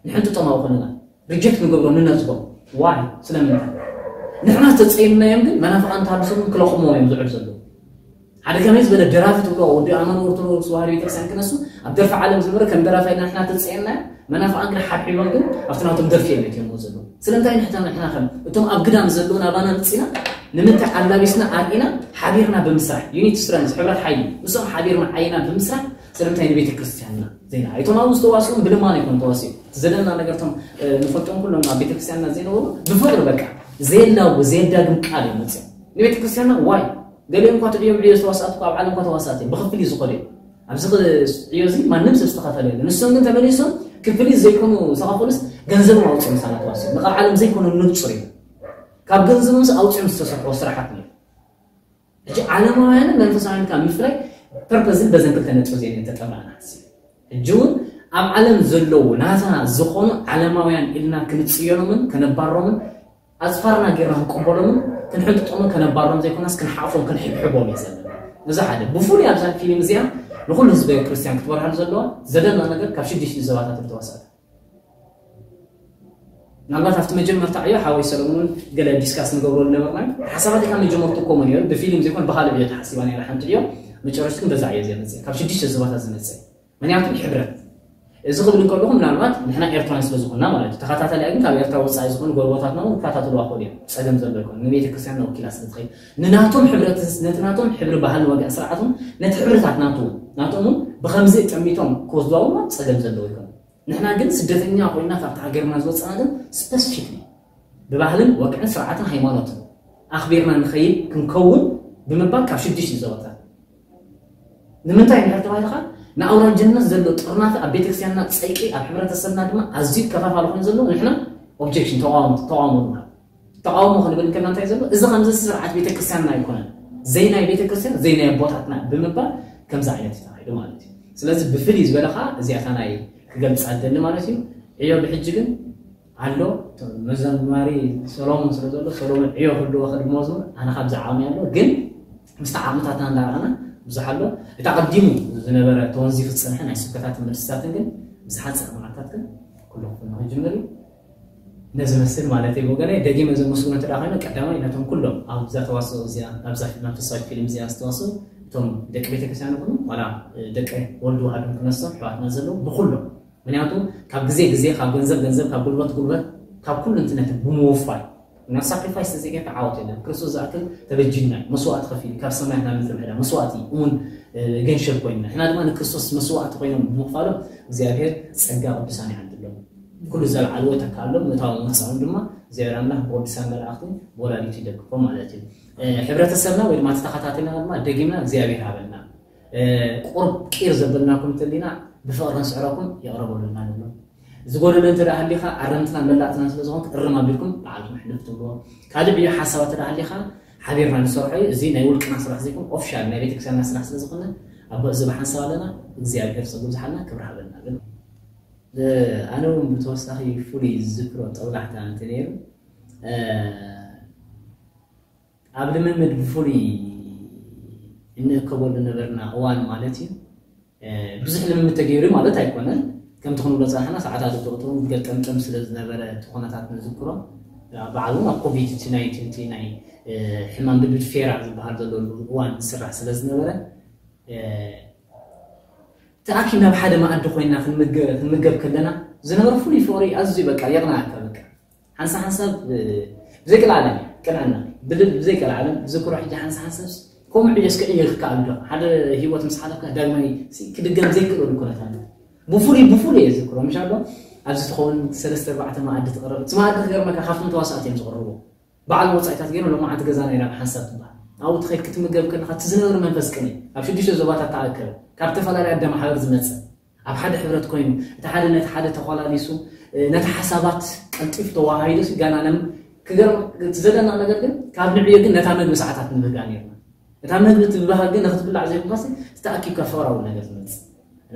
ንሕንጥጦም ኣብኡ ከለና ሪጀክት ንገብሮ ንነፅጎም ዋይ ስለምንታይ ንሕና ዝተፀየምናዮም ግን መናፍቃን ተሃድሶም ክለቕሞም እዮም ዝዕል ዘለዉ ሓደ ከመይ ዝበለ ደራፊ ትብሎ ወዲ ኣመን ኦርቶዶክስ ተዋህዶ ቤተክርስትያን ክነሱ ኣብ ደርፊ ዓለም ዝነበረ ከም ደራፋይ ንሕና ተፀየምናዮ መናፍቃን ግን ሓብሒቦም ግን ኣብቲ ናቶም ደርፊ እዮም መትዮም ዘለዉ ስለምንታይ ንሕና ንሕና ከም እቶም ኣብ ግዳም ዘለዉ ናባና ምፅና ንምንታይ ኣላቢስና ኣርኢና ሓቢርና ብምስራሕ ዩኒት ስትረንስ ሕብረት ሓይሊ ምስኦም ሓቢርና ዓይና ብምስራሕ ስለምንታይ ንቤተ ክርስቲያንና ዘይና እቶም ኣብኡ ዝተዋስኦም ብልማን ኣይኮኑ ተዋሲኦም እቲ ዘለና ነገርቶም ንፈልጦም ኩሎም ኣብ ቤተ ክርስቲያንና ዘይነበሩ ብፍቅሪ በቃ ዘየላቡ ዘየዳግም ቃል እዮም መፅኦም ንቤተ ክርስቲያንና ዋይ ገሊኦም እኳ ትዕዮም ዕዮ ዝተዋስኣት ኣብ ዓለም እኳ ተዋስኣት እዮም ብክፍል እዩ ዝኸዱ እዮም ኣብዚ ዕዮ እዚ ማንም ሰብ ዝተኸፈለ የለ ንሶም ግን ተመሊሶም ክፍል ዘይኮኑ ዝተኸፈሉስ ገንዘብ ኣውፅኦም ሳላ ተዋስኦም ንቃብ ዓለም ዘይኮኑ ንብፁር እዮም ካብ ገንዘቦምስ ኣውፅኦም ዝተሰርሕዎ ስራሓት ነይሩ ሕጂ ዓለማውያንን መንፈሳውያን ካብ ምፍላይ ፐርፐዝን በዘን ክልተ ነጥቢ ዜን ተጠምራና ሕጂ እውን ኣብ ዓለም ዘለዉ ናታ ዝኾኑ ዓለማውያን ኢልና ክንፅዮኖምን ከነባሮምን ኣፅፋርና ጌርና ክንቀበሎምን ክንሕንጥጦምን ከነባሮም ዘይኮናስ ክንሓፎም ክንሕብሕቦም እዩ ዘለና እዚ ሓደ ብፍሉይ ኣብዛ ፊልም እዚኣ ንኩሉ ህዝበ ክርስትያን ክትበርሃሉ ዘለዋ ዘለና ነገር ካብ ሽዱሽተ ዘባታት ዝተወሰደ ምናልባት ኣብቲ መጀመርታ ዕዮ ሓወይ ሰለሙን ገለ ዲስካስ ንገብረሉ ነበርና ሓሳባት ካብ መጀመርቱ ኮሞ ነሩ ብፊልም ዘይኮን ብካልእ ዕዮ ተሓሲባ ነራ ሓንቲ ዕዮ መጨረሽቲ ግን በዛ ዕዮ እዚኣ መፅእ ካብ ሽዱሽተ ዘባታት ዝመፅእ ምክንያቱ ሕብረት እዚ ክብል እንከለኹ ምናልባት ንሕና ኤርትራን ስለ ዝኾንና ማለት እዩ ተኸታታሊ ግን ካብ ኤርትራ ወፃኢ ዝኾኑ ጎረቦታትና እውን ክከታተልዋ ክኽእሉ እዮም ፀገም ዘሎ ይኮኑ ንቤተ ክርስቲያን ወኪላ ስለ ትኸይድ ንናቶም ሕብረት ነቲ ናቶም ሕብሪ ባህልን ወግዕን ስርዓቶም ነቲ ሕብርታት ናቱ ናቶም እውን ብከምዚ ጠሚቶም ክወስድዋ እውን ፀገም ዘለዎ ይኮኑ ንሕና ግን ስደተኛ ኮይና ካብቲ ሃገርና ዝወፃና ግን ስፐሲፊክሊ ብባህልን ወግዕን ስርዓትን ሃይማኖትን ኣኽቢርና ንኸይድ ክንከውን ብምባል ካብ ሽዱሽተ ዞባታት ንምንታይ እንድሕር ተባሂልካ ንኣውራጅነት ዘሎ ጥርናፈ ኣብ ቤተክርስትያንና ፀይቂ ኣብ ሕብረተሰብና ድማ ኣዝዩ ከፋፋሊ ኮይኑ ዘሎ ንሕና ኦብጀክሽን ተቃውሞ ተቃውሞ ንብሎ ተቃውሞ ክንብል እንከና እንታይ ዘሎ እዚ ከምዚ ስርዓት ቤተክርስትያንና ኣይኮነን ዘይናይ ቤተክርስትያን ዘይናይ ኣቦታትና ብምባል ከምዚ ዓይነት እዩ ተኻይዱ ማለት እዩ ስለዚ ብፍልይ ዝበለ ከዓ እዚኣታ ናይ ክገልፃ ደሊ ማለት እዩ ዕዮ ብሕጂ ግን ኣሎ መዘማሪ ሰሎሞን ስለ ዘሎ ሰሎሞን ዕዮ ክህልዎ ክድሞ ዝብል ኣነ ካብዚ ዓቕሚ ኣሎ ግን ምስቲ ዓቕምታትና እንዳረኸና ብዙሕ ኣሎ እቲ ኣቐዲሙ ዝነበረ ተወንዚፉ ዝፀንሐ ናይ ስብከታትን መልስታትን ግን ብዝሓፀረ መዓልታት ግን ኩሉ ክፍኖ ክጅምር እዩ ነዚ መስል ማለት እዩ ወገነ ደጊመ ዘመስግኖ እንተ ኮይኑ ቀዳማይ ነቶም ኩሎም ኣብዛ ተዋስኦ እዚኣ ኣብዛ መንፈሳዊ ፊልም እዚኣ ዝተዋስኡ እቶም ደቂ ቤተክርስትያን ይኹኑ ዋላ ደቂ ወልድ ዋህዶም ክነሶም ኣሕዋትና ዘለዉ ብኩሎም ምክንያቱ ካብ ግዜ ግዜ ካብ ገንዘብ ገንዘብ ካብ ጉልበት ጉልበት ካብ ኩሉ እንትነት ብምውፋይ እና ሳክሪፋይስ ተዘይጌርካ ዓወት የለን ክርስቶስ ዝኣክል ተበጅና መስዋዕቲ ከፊሉ ካብ ሰማያት ናብ ምድሪ ምሕዳ መስዋዕቲ እውን ገንሸል ኮይንና ንሕና ድማ ንክርስቶስ መስዋዕቲ ኮይኖም ብምኽፋሎም እግዚኣብሔር ጸጋ ቅዱሳን ይዓድሎም ኩሉ ዘልዓልዎ ተካሎም ምእታዎም ወፃኦም ድማ እግዚኣብሔር ኣምላኽ ብቅዱሳን መላእኽቲ ወላዲቱ ይደግፎም ማለት እዩ ሕብረተሰብና ወይ ድማ ተተኸታተልና ድማ ደጊምና እግዚኣብሔር ሃበልና ቁርብ ቂር ዘበልናኩም እንተሊና ብፍቕሪ ንስዕረኩም ይቕረ በሉልና ንብሎም። ዝጎደለ እንተ ደኣ ሃሊኻ ኣረምትና መላእትና ስለ ዝኾንክ እርም ኣቢልኩም ባዕልኹም ሕልፍ ትብልዎ። ካልእ ዕዮ ሓሳባት እንተ ደኣ ሃሊኻ ሓቢርና ንሰርሖ እዩ። እዚ ናይ ውልቅና ስራሕ ዘይኮነ ኦፊሻል ናይ ቤተክርስትያንና ስራሕ ስለ ዝኾነ ኣብ እዚ ብሓንሳብ ኣለና። እግዚኣብሔር ጸጉ ዝሓልና ክብሪ ሃበልና ግን ኣነ እውን ብተወሳኺ ፍሉይ ዝዝክሮ ጠውላሕታ እንተ ነይሩ ኣብ ልምምድ ብፍሉይ እንእከበሉ ነበርና እዋን ማለት እዩ። ብዙሕ ልምምድ ተገይሩ ማለት ኣይኮነን። ከምቲ ክንብሎ ፃሕና ሰዓታት ብቁጥሩ ገጠምጠም ስለ ዝነበረ እቲ ኩነታት ንዝክሮ ባዕሉ ኣብ ኮቪድ እቲ ናይ ትንቲ ናይ ሕማም ብብድ ፌራ ዝበሃል ዘለሉ እዋን ዝስራሕ ስለ ዝነበረ ተኣኪብና ኣብ ሓደ መኣዲ ኮይና ክንምገብ ከለና ዝነበረ ፍሉይ ፍቕሪ ኣዝዩ በቃ የቕናኣካ። በቃ ሓንሳ ሓንሳብ ብዘይቀልዓለም ቅንዕና ብዘይቀልዓለም ዝክሮ ሕጂ ሓንሳ ሓንሳብ ከምኡ ዕዮ እስከ ዕዮ ክከኣል ዶ ሓደ ህይወት ምስ ሓለፍካ ዳግማይ ክድገም ዘይክእለሉ ኩነታት ብፍሉይ ብፍሉይ እየ ዝክሮ ምሽ ኣሎ። ኣብዚ ትኸውን ሰለስተ ኣርባዕተ መኣዲ ትቕረብ እቲ መኣዲ ክገርመካ ካብቶም ተዋሳእቲ እዮም ዝቕርቡ። በዓል ወፃኢታት ገይሩ ሎማዓንቲ ገዛና ኢና ብሓንሳብ ትበሃል ኣብኡ ትኸይድ ክትምገብ ከለካ እቲ ዝነበረ መንፈስ ቅኔ ኣብ ሽዱሽተ ዞባታት ተኣከበ ካብ ዝተፈላለየ ኣደ ማሕበር ዝመፀ ኣብ ሓደ ሕብረት ኮይኑ እቲ ሓደ ነቲ ሓደ ተኮላሊሱ ነቲ ሓሳባት ቀልጢፍ ተዋሃይዶ ጋና ለም ክገርም እቲ ዘለና ነገር ግን ካብ ንዕዮ ግን ነታ መግቢ ሰዓታት ንብህጋ ነርና እታ መግቢ ትብሃግ ግን ንክትብላዕ ዘይኮንካሲ ዝተኣኪብካ ፍቅራዊ ነገር ዝመፅእ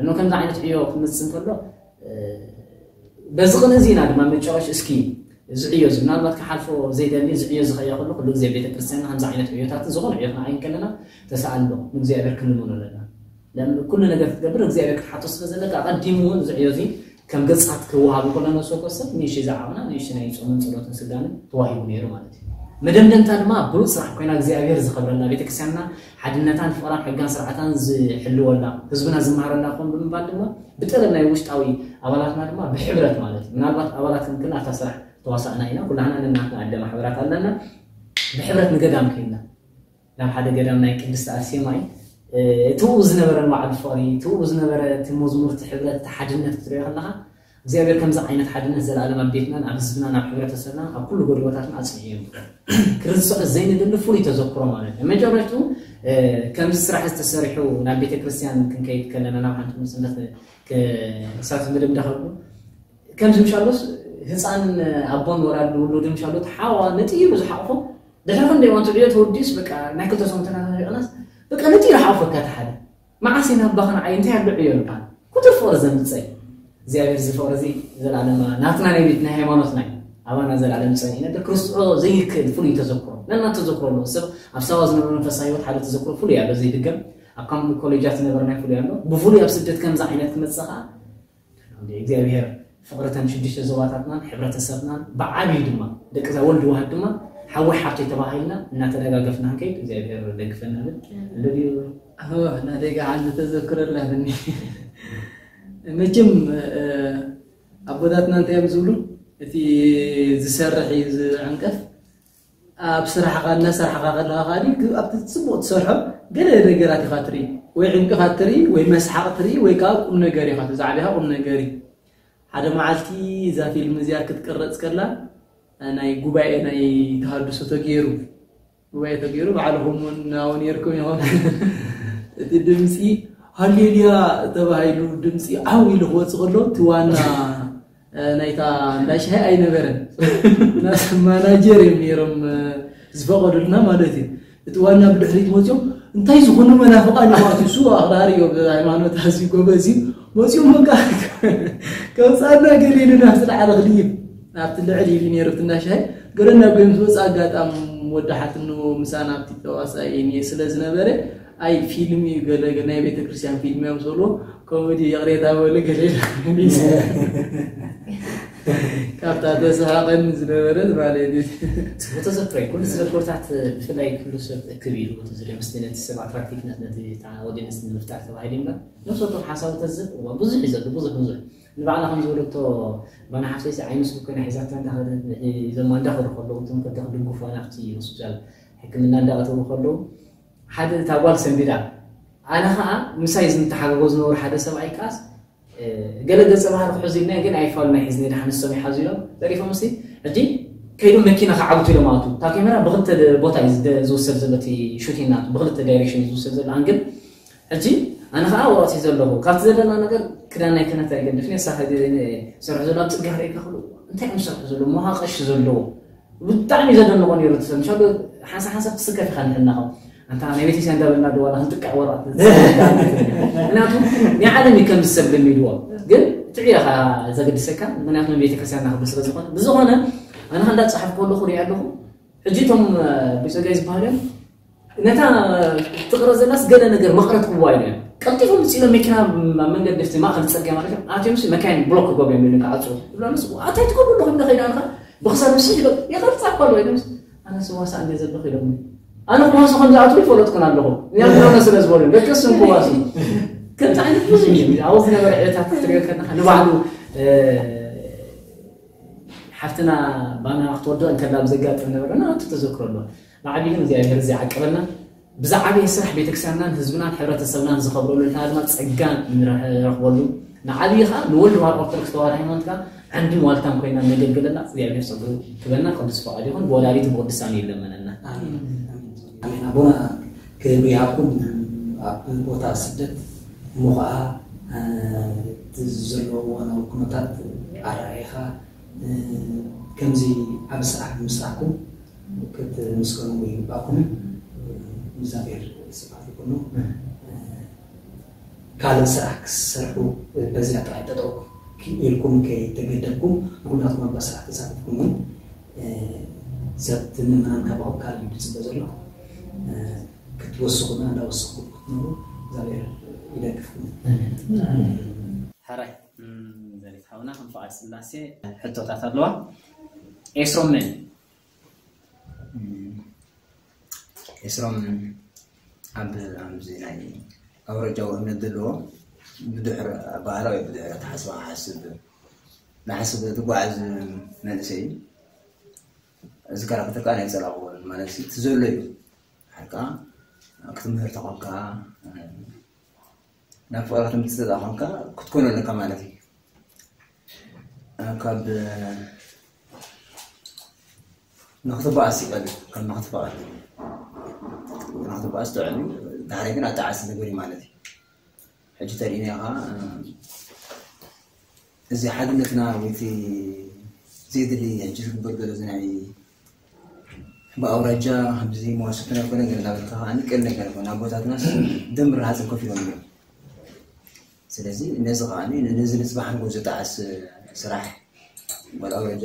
እኖ ከምዚ ዓይነት ዕዮ ክመፅእ እንከሎ በዚ ቅንእ እዚ ኢና ድማ መጨረሽ እስኪ እዚ ዕዮ እዚ ምናልባት ክሓልፎ ዘይደሊ እዚ ዕዮ ዝኸየ ከሎ ኩሉ ግዜ ቤተክርስትያንና ከምዚ ዓይነት ዕዮታት ዝኾነ ዕዮ ክንዓይ ከለና ተሰኣሎ ንእግዚኣብሔር ክንልምኖ ኣለና ኩሉ ነገር ክትገብር እግዚኣብሔር ክትሓቶ ስለ ዘለካ ኣቐዲሙ እውን እዚ ዕዮ እዚ ከም ገጻት ክወሃብ ከሎ ነብሰ ወከፍ ሰብ ንእሽተይ ዝዓቕና ንእሽተይ ናይ ጾምን ጸሎትን ስጋንን ተዋሂቡ ነይሩ ማለት እዩ መደምደምታ ድማ ብሉፅ ስራሕ ኮይና እግዚኣብሔር ዝኸብረላ ቤተክርስትያንና ሓድነታን ፍቕራን ሕጋን ስርዓታን ዝሕልወላ ህዝብና ዝመሃረላ ክኾን ብምባል ድማ ብጠለብ ናይ ውሽጣዊ ኣባላትና ድማ ብሕብረት ማለት እዩ ምናልባት ኣባላት ክንክን ኣብታ ስራሕ ተዋሳእና ኢና ኩላህና ነናትና ኣደ ማሕበራት ኣለና ብሕብረት ንገዳም ከይድና ናብ ሓደ ገዳም ናይ ቅድስቲ ኣርሴማ እዩ ትብኡ ዝነበረ ንባዕሉ ፍቕሪ ትብኡ ዝነበረ እቲ መዝሙር እቲ ሕብረት እቲ ሓድነት ክትሪኦ ከለካ እግዚኣብሔር ከምዚ ዓይነት ሓድነት ዘላለም ኣብ ቤትናን ኣብ ህዝብናን ኣብ ሕብረተሰብና ኣብ ኩሉ ጎድቦታትና ኣፅኒዑ እዩ ክርስቶስ ዘይንደሊ ፍሉይ ተዘክሮ ማለት እዩ መጀመርቱ ከምዚ ስራሕ ዝተሰሪሑ ናብ ቤተክርስትያን ክንከይድ ከለና ናብ ሓንቲ ምፅነት ክሳብ ምድምዳ ከብሉ ከምዚ ምሻሎስ ህፃን ኣቦን ወላድ ውሉድ ምሻሎ ተሓዋ ነጢሩ ዝሓቕፎ ድሕሪ ክንደይ ዋን ትዕዮ ተወዲስ በቃ ናይ ክልተ ሰሙን ተናናሪቕናስ በቃ ነጢሩ ሓቕፎካ ተሓደ መዓስ ኢና ኣባኻ ንዓይ እንታይ ኣሎ ዕዮ ንባል ኩቱር ፍቕሪ ዘምፀይ እግዚኣብሔር እዚ ፍቕሪ እዚ ዘላለማ ናትና ናይ ቤት ናይ ሃይማኖትና እዩ ኣባና ዘላለም ፀኒነ ክርስትዖ ዘይክእል ፍሉይ ተዘክሮ ነና ተዘክሮ ኣለዎ ሰብ ኣብ ሳዋ ዝነበረ መንፈሳዊ ህይወት ሓደ ተዘክሮ ፍሉይ ኣሎ ዘይድገም ኣብ ካምፕ ኮሌጃት ዝነበረ ናይ ፍሉይ ኣሎ ብፍሉይ ኣብ ስደት ከምዚ ዓይነት ክመፅእ ከዓ እግዚኣብሔር ፍቕርተን ሽዱሽተ ዞባታትናን ሕብረተሰብናን ብዓብዩ ድማ ደቂ እዛ ወልድ ዋህድ ድማ ሓወይ ሓብተይ ተባሂልና እናተደጋገፍና ክንከይድ እግዚኣብሔር ደግፈና ብል ኣለድዩ ናደጋ ሓንቲ ተዘክሮ ኣላትኒ መቸም ኣቦታትና እንታይ እዮም ዝብሉ እቲ ዝሰርሕ እዩ ዝዕንቀፍ ኣብ ስራሕኻ እናሰራሕኻ ከለኻ ከኣ ኣብቲ ፅቡቅ ትሰርሖ ገለ ነገራት ኢኻ ትርኢ ወይ ዕንቅፋት ትርኢ ወይ መስሓቅ ትርኢ ወይ ከዓ ቁም ነገር ኢኻ ትዛዕብ ኢኻ ቁም ነገር እዩ ሓደ መዓልቲ እዛ ፊልም እዚኣ ክትቅረፅ ከላ ናይ ጉባኤ ናይ ተሃድሶ ተገይሩ ጉባኤ ተገይሩ ባዕልኹም እውን ናው ነርኩም ኢኹም እቲ ድምፂ ሃሌሉያ ተባሂሉ ድምፂ ዓው ኢሉ ክወፅእ ከሎ እቲ ዋና ናይታ እንዳ ሻሂ ኣይነበረን ማናጀር እዮም ነይሮም ዝፈቐዱልና ማለት እዩ እቲ ዋና ብድሕሪት መፅኦም እንታይ ዝኾኑ መናፍቃን እዮም ኣትዩ እሱ ኣኽራሪ እዮም ሃይማኖት ኣዝዩ ጎበዝ እዩ መፅኦም በቃ ከውፃና ገለ ኢሉ ናብቲ ላዕሊ ክድይብ ናብቲ ልዕሊ ኢሉ ነይሩ እቲ እንዳ ሻሂ ገለ እናጎዮም ዝወፅእ ኣጋጣሚ ወዲ ሓትኖ ምሳና ኣብቲ ተዋሳኢ ስለ ዝነበረ ኣይ ፊልም እዩ ገለ ናይ ቤተክርስትያን ፊልም እዮም ዝብልዎ ኮሜዲ ይቕሬታ በሉ ገለ ካብታ ተስሓቐኒ ዝነበረት ማለት እዩ ተዘክረ ኩሉ ተዘክርታት ብፍላይ ኩሉ ሰብ እክብ ኢሉ ዝሪኦ ምስ ነቲ ሰብ ኣትራክቲቭነት ነቲ ኦዲየንስ ንምፍጣር ተባሂሉ እምበር ነፍሰ ወከፍ ሓሳብ ተዝብ ብዙሕ እዩ ዘሎ ብዙሕ ብዙሕ ንባዕላ ከም ዝበለቶ ባና ሓፍተይሲ ዓይኑ ስብ ኮይና ሒዛታ እንዳኸደት ንዒ ዘማ እንዳኸዱ ከለዉ እቶም ከዳ ክድግፉ ናብቲ ሆስፒታል ሕክምና እንዳኣተዉ ከለዉ ሓደ እታ ጓል ሰንቢዳ ኣነ ከዓ ምሳይ ዝምተሓገጎ ዝነበሩ ሓደ ሰብኣይ ከዓስ ገለ ገፀ ባህሪ ክሕዙ ኢልና ግን ኣይፋሉ ናይ ሒዝኒ ድሓን ንሶም ይሓዙ ኢሎም ዘሪፎም ሲ ሕጂ ከይዶም መኪና ክዓብቱ ኢሎም ኣቱ እታ ካሜራ ብክልተ ቦታ እዩ ዝደ- ዝውሰድ ዘሎ እቲ ሹቲንግ ናቱ ብክልተ ዳይሬክሽን እዩ ዝውሰድ ዘሎ ኣንግል ሕጂ ኣነ ከዓ ወረቕት እዩ ዘለኹ ካብቲ ዘለና ነገር ክዳን ናይ ክነት ኣይገድፍኒ ሳ ሰርሑ ዘሎ ኣብ ፅጋ ርእካ ክሉ እንታይ እዮም ዝሰርሑ ዘለዎ መሃቀሽ ዘለዎ ብጣዕሚ ዘደንቆ ነይሩ ትሰምሻ ሓንሳ ሓንሳብ ትስከፍ ኢኻ ንሕናኸ ኣንታ ናይ ቤተክርስትያን እንዳበልና ድዋላ ክንጥቅዕ ወረቐት ምክንያቱ ናይ ዓለም እዩ ከም ዝሰብ ልሚድዎ ግን ትዕዮ ኢኻ ዘገድሰካ ምክንያቱ ቤተክርስትያን ናክብል ስለ ዝኾነ ብዝኾነ ኣነ ከ እንዳፀሓፍ ከለኹ ሪኣ ኣለኹ ሕጂ እቶም ብፀጋይ ዝበሃሉ እዮም ነታ ትቕረ ዘላስ ገለ ነገር መቕረት ክዋ ኢለ ቀልጢፎም ምፅእ ኢሎም መኪና ኣብ መንገዲ ፍቲ ማእኸል ፅርግያ ማለት እዮም ኣትዮም ሲ መካይን ብሎክ ክገብሩ እዮም ኢሉ ክዓፅዎ ዝብላ ምስ ኣታይ ትገብሩ ኣለኹም ንኸይዳ ንኻ ብክሳብ ምስ ይቐርፃ እኳ ኣሎ ኢሎም ኣነ ስዋሳ እንደ ዘለኹ ኢሎም ኣነ ክዋሱ ከም ዝኣትዉ ይፈለጥኩን ኣለኹ ያምኖነ ስለ ዝበሉ ደቂ ስም ክዋሱ ከምዚ ዓይነት ብዙ እዩ ኣብ ዝነበረ ዕለታት ክትሪኦ ከለካ ንባዕሉ ሓፍትና ባና ክትወድቕ እንከላ ብዘጋጥም ነበረ ናቱ ተዘክሮ ኣሎ ንዓቢ ግን እግዚኣብሔር እዚ ዓቀበና ብዝዓበየ ስራሕ ቤተክርስትያንናን ህዝብናን ሕብረተሰብናን ዝኸብረሉ ንሕና ድማ ጸጋ ንረኽበሉ ንዓብዪ ከዓ ንወልድ ዋር ኦርቶዶክስ ተዋህዶ ሃይማኖት ከዓ ዓንድን ዋልታን ኮይና ነገልግለላ እግዚኣብሔር ጸጉ ክበና ቅዱስ ፈቃድ ይኹን ብወላዲቱ ብቅዱሳን ይለመነና ኣሜን ኣቦና ክብሪ ይሃብኩም ኣብ ቦታ ስደት እሞ ከዓ እቲ ዘለዎ እዋናዊ ኩነታት ኣረኣይኻ ከምዚ ዓብ ስራሕ ብምስራሕኩም ክትምስገኑ ይግባእኩም እግዚኣብሔር ስብሓት ይኩኑ ካልእ ስራሕ ክሰርሑ በዚኣ ጥራይ ጠጠው ኢልኩም ከይተገደብኩም ኩላትኩም ኣብ ስራሕ ተሳትፍኩም እውን ሰብ ምእመናን ካባኹም ካልእ እዩ ዝፅበ ዘሎ ክትወስኹና እንዳወሰኹም ክትነብሩ እግዚኣብሔር ይደግፍኩም ሕራይ ዘሪት ሓውና ከም ፍቓድ ስላሴ ሕቶታት ኣለዋ ኤስሮም መን ኤስሮም ኣብ ኣብዚ ናይ ኣውረጃዊ እምነት ዘለዎ ብድሕሪ ኣባህላ ወይ ብድሕሪ ኣተሓስባ ክሓስብ ንሓስብ ዝጓዓዝ መንእሰይ እዩ እዚ ካራክተር ከዓ ናይ ፀላእዎ ማለት እቲ ዘሎ እዩ ሓልካ ክትምህር ተኾንካ ናብ ፍቕሪ ክትምፅእ ተኾንካ ክትኮኖ ኣለካ ማለት እዩ ካብ ንክትበኣስ ይቀል ካብ ንክትፈቐድ ንክትበኣስ ጥዕም ዳሕራይ ግን ኣጣዓሲ ነገር እዩ ማለት እዩ ሕጂ ተሪእና ኢኻ እዚ ሓድነትና ወይቲ ዘይድሊ ሕጂ ዝግበር ዘሎ እዚ ናይ ብኣውራጃ ከምዚ መዋስብቲ ነገር ገለ እናበልካ ከዓ ንቀል ነገር ይኮን ኣቦታትናስ ደም ረሃፅን ኮፍ ኢሎም እዮም ስለዚ ነዚ ከዓ ነዚ ንፅባሕ ንጎ ዝጠዓስ ስራሕ ጓል ኣውራጃ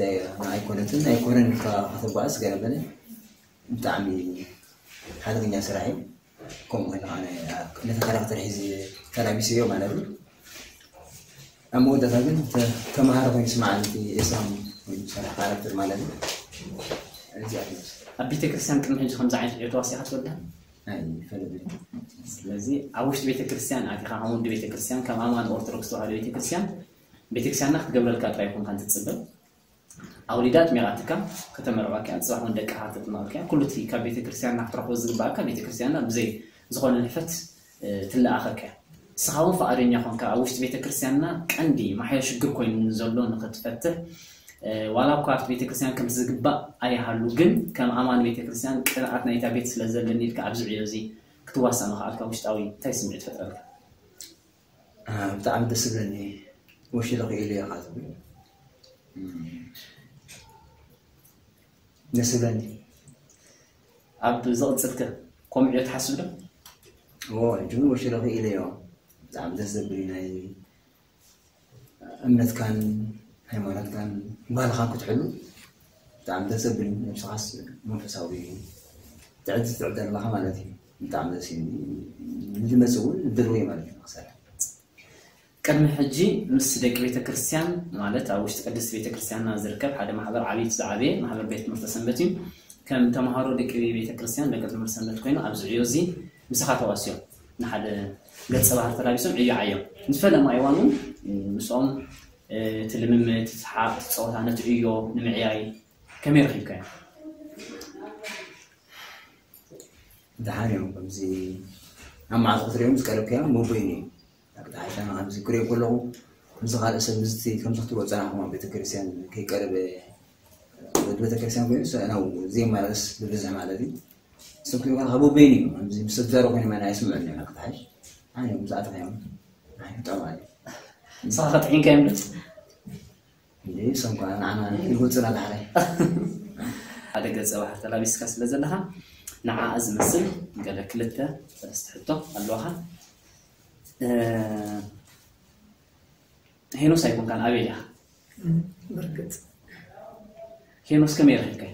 ኣይኮነትን ኣይኮነን ኢልካ ከተጓዓዝ ገለ በለ ብጣዕሚ ሓደገኛ ስራሕ እዩ ከምኡ ከለካ ነቲ ካራክተር ሒዚ ተላቢሰዮ ማለት እዩ ኣብ መወዳእታ ግን ተመሃሪ ኮይኑ ስማዕ ነቲ ኤስራም ኮይኑ ዝሰርሕ ካራክተር ማለት እዩ እዚኣ ትመስል ኣብ ቤተክርስትያን ቅድሚ ሕጂ ከምዚ ዓይነት ዕዮ ተዋሲኻ ትፈልጥ ኣይፈልጥን ስለዚ ኣብ ውሽጢ ቤተክርስትያን ኣቲኻ ከም ወዲ ቤተክርስትያን ከም ኣማን ኦርቶዶክስ ተዋህዶ ቤተክርስትያን ቤተክርስትያንና ክትገብረልካ ጥራይ ይኮንካ ትፅበ ኣውሊዳ ኣጥሚቓትካ ከተመርቐካ እያ፣ ንፅባሕ እውን ደቅኻ ከተጥምቐካ እያ። ኩሉ እቲ ካብ ቤተ ክርስቲያንና ክትረኽቦ ዝግብኣካ ቤተ ክርስቲያንና ብዘይ ዝኾነ ንሕፈት ትለኣኸካ እያ። ንስኻ እውን ፍቓደኛ ኾንካ ኣብ ውሽጢ ቤተ ክርስቲያንና ቀንዲ ማሕዮ ሽግር ኮይኑ ዘሎ ንኽትፈትሕ ዋላ እኳ ኣብቲ ቤተ ክርስቲያን ከምቲ ዝግባእ ኣይሃሉ ግን ከም ኣማኒ ቤተ ክርስቲያን ቅንኣት ናይታ ቤት ስለ ዘለኒ ኢልካ ኣብዚ ዕዮ እዚ ክትዋሳእ ምኽኣልካ ውሽጣዊ እንታይ ስምዒት ይፈጥረልካ? ብጣዕሚ ደስ ዝብለኒ ወሽለ ክኢሉ ኢኻ ትብል ደስ ዝብለኒ ኣብ ዝቕፅል ከ ከምኡ ትሓስብ ዶ? እዎ ሕጂ እውን ወሽለ ክኢለ እዮ ብጣዕሚ ደስ ዘብል ናይ እምነትካን ሃይማኖትካን ባህልኻን ክትሕሉ ብጣዕሚ ደስ ዘብል እዩ ነብስኻስ መንፈሳዊ ትዕድል ትዕደል ኣለኻ ማለት እዩ ብጣዕሚ ደስ እዩ ንዝመፅእ እውን ድልው እዩ ማለት እዩ ንክሰርሕ ቅድሚ ሕጂ ምስ ደቂ ቤተ ክርስቲያን ማለት ኣብ ውሽጢ ቅድስቲ ቤተ ክርስቲያንና ዝርከብ ሓደ ማሕበር ዓብይቲ ዝዓበየ ማሕበር ቤት ትምህርቲ ሰንበት እዩ ከም ተምሃሮ ደቂ ቤተ ክርስቲያን ደቂ ትምህርቲ ሰንበት ኮይኑ ኣብዚ ዕዮ እዚ ምሳኻ ተዋስዮም ንሓደ ገፀ ባህር ተላቢሶም ዕዮ ዓዮም ንዝፈለማ እዋን እውን ምስኦም እቲ ልምምድ እቲ ሰሓቕ እቲ ፀወታ ነቲ ዕዮ ንምዕያይ ከመይ ረኺብካዮ ደሓን እዮም ከምዚ ኣብ መዓልቲ ክትሪኦም ዝቀረብካዮም መቦይን እዮም ኣቅጣዕሻና ከምዚ ክሪኦ ከለኹ ከምዚ ካልእ ሰብ ምስቲ ከምዚ ክትሪኦ ፀናሕኩም ኣብ ቤተክርስትያን ከይቀረበ ወዲ ቤተክርስትያን ኮይኑ ሰእናው ዘይመላለስ ብብዝሒ ማለት እዩ ንስም ክትሪኦ ከለካ መቦይን እዩ ከምዚ ምስ ተዛረብ ኮይኑ ማን ኣይስምዑን እዮም ኣቅጣዕሽ ኣነ እዮም ዝኣተኻዮም ኣነ ጠማል እዩ ንስኻ ከጥዒንካዮም ዶ እንዴ ሰምኳ ንዓና ይጎፅና ዳሕራይ ሓደ ገፀ ባህር ተላቢስካ ስለ ዘለካ ንዓኣ ዝመስል ገለ ክልተ ሰለስተ ሕቶ ኣለዋካ ሄኖስ ኣይኮንካን ኣቤል ኢኻ ብርግፅ ሄኖስ ከመይ ረኺብካዮ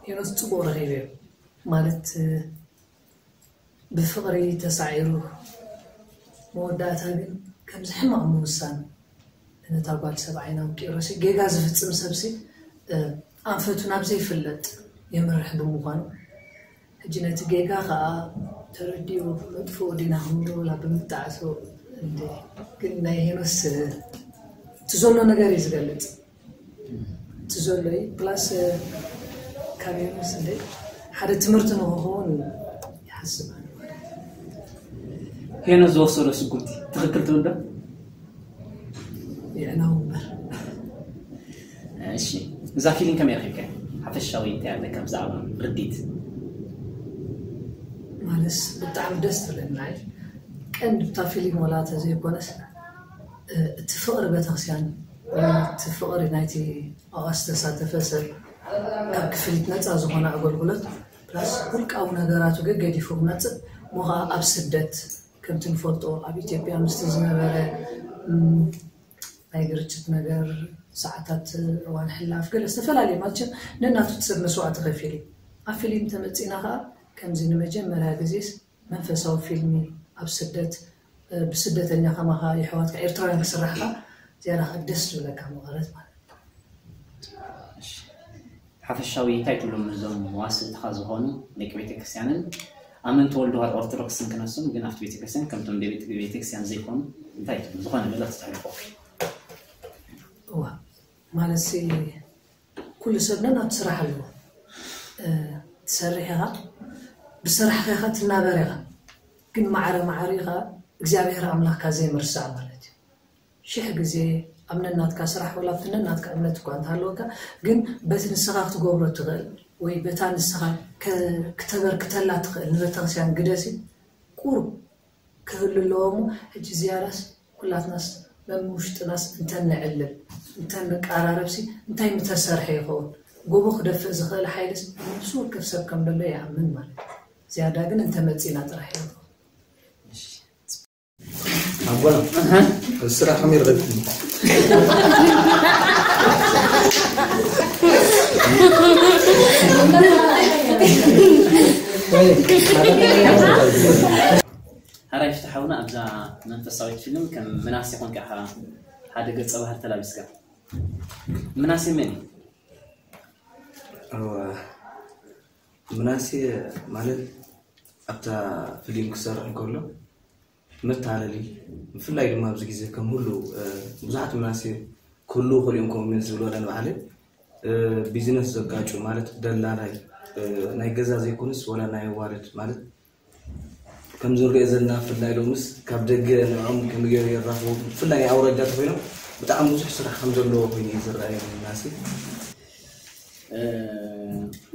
ሄኖስ ጽቡቕ ረኺበዮ። ማለት፣ እ፣ ብፍቕሪ ተሳዒሩ፣ መወዳእታ ግን ከምዚ ሕማቕ ምውሳን ነታ ጓል ሰብኣይና ውቂሮሲ ጌጋ ዝፍጽም ሰብሲ፣ እ፣ ኣንፈቱ ናብ ዘይፍለጥ የምርሕ ብምዃኑ፣ ሕጂ ነቲ ጌጋ ኸኣ ተረዲኡ መጥፍኡ ዲና ክንብሎ ወላ ብምጣዕሶ እንደ ግን ናይ ሄኖስ፣ እ፣ እቲ ዘሎ ነገር እዩ ዝገልጽ። እቲ ዘሎ እዩ። ፕላስ፣ እ፣ ካብ ሄኖስ እንደ ሓደ ትምህርቲ ንክኸውን ይሓስብ ኣነ። ሄኖስ ዝወሰዶ ስጉምቲ ትኽክል ትብል ዶ? የዕናው እምበር። እሺ፣ እዛ ፊልም ከመይ ረኺብካ? ሓፈሻዊ እንታይ ኣለካ ብዛዕባ ርዲት? ማለትስ ብጣዕሚ ደስ ትብለና እያ። ቀንዲ ብታ ፊልም ወላ ተዘይኮነስ፣ እ፣ እቲ ፍቕሪ ቤተክርስትያን፣ እቲ ፍቕሪ ናይቲ ኣብኣ ዝተሳተፈ ሰብ፣ ካብ ክፍሊት ነፃ ዝኾነ ኣገልግሎት፣ ፕላስ ውልቃዊ ነገራቱ ገገዲፉ ክመፅእ፣ እሞ ኸዓ ኣብ ስደት፣ ከምቲ ንፈልጦ ኣብ ኢትዮጵያ ምስቲ ዝነበረ፣ እም፣ ናይ ግርጭት ነገር፣ ሰዓታት እዋን ሕላፍ፣ ገለ ዝተፈላለየ ማለት ነናቱ ሰብ መስዋእቲ ከፊሉ እዩ። ኣብ ፊልም ተመፂና ኸዓ ከምዚ ንመጀመርያ ግዜስ መንፈሳዊ ፊልም ኣብ ስደት፣ እ፣ ብስደተኛ ከማኻ የሕዋትካ ኤርትራውያን ክስራሕ ኸዓ ዝያዳ ኸዓ ደስ ዝብለካ መቐረት ማለት እዩ። ሓፈሻዊ እንታይ ትብሎም እዞም መዋስእትኻ ዝኾኑ ደቂ ቤተክርስትያንን ኣመንቲ ተወልዶ ኦርቶዶክስን ክነሶም ግን ኣብቲ ቤተክርስትያን ከምቶም ደቂ ቤተክርስትያን ዘይኮኑ እንታይ ትብሉ ዝኾነ መልእኽቲ ተሕልፎ? እዋ፣ ማለትሲ ኩሉ ሰብ ነናቱ ስራሕ ኣለዎ። እ፣ ትሰርሕ ኢኻ፣ ብስራሕኻ ኢኻ ትናበር ኢኻ። ግን ማዕረ ማዕረ ኢኻ እግዚኣብሔር ኣምላኽካ ዘይምርሳዕ ማለት እዩ። ሽሕ ግዜ ኣብ ነናትካ ስራሕ ወላ ኣብቲ ነናትካ እምነት እኳ እንተሃለወካ፣ ግን በቲ ንስኻ ክትገብሮ ትኽእል ወይ በታ ንስኻ ከ-፣ ክተበርክተላ ትኽእል ንቤተክርስትያን ግደሲ ቁሩብ ክህሉ ኣለዎ እሞ፣ ሕጂ ዝያዳስ ኩላትናስ መምውሽጥናስ እንተንዕልል፣ እንተንቀራረብሲ እንታይ ምተሰርሐ ይኸውን? ጎቦ ክደፍእ ዝኽእል ሓይልስ ኣብ ነፍሲ ወከፍ ሰብ ከም ዘሎ ይኣምን ማለት እዩ። ዝያዳ ግን እንተመጺእና ጥራሕ እዩ። ኣቦና፣ እዚ ስራሕ ከመይ ረኺብኩም? ሓራይ ፍትሓውና ኣብዛ መንፈሳዊት ፊልም ከም ምናሴ ኮንካ ኢኻ ሓደ ገጸ ባህሪ ተላቢስካ። ምናሴ መን እዩ? እወ፣ ምናሴ ማለት ኣብታ ፊልም ክሰርሕ እንከሎ መታለሊ፣ ብፍላይ ድማ ኣብዚ ግዜ ከም ሁሉ፣ እ፣ ብዙሓት ምናሴ ክህልዉ ይኽእሉ እዮም፣ ከምኡ ዝብል ወላ ንባዕለይ፣ እ፣ ቢዝነስ ዘጋጩ ማለት ደላላይ፣ እ፣ ናይ ገዛ ዘይኮነስ ወላ ናይ ኣዋርድ ማለት ከም ዝሪኦ ዘለና ብፍላይ ሎምስ ካብ ደገ ንዕኦም ከመይ ገይሩ የራኽቦም ብፍላይ ናይ ኣውራጃ ተኮይኖም ብጣዕሚ ብዙሕ ስራሕ ከም ዘለዎ ኮይኑ እዩ ዝረኣየኒ ምናሴ።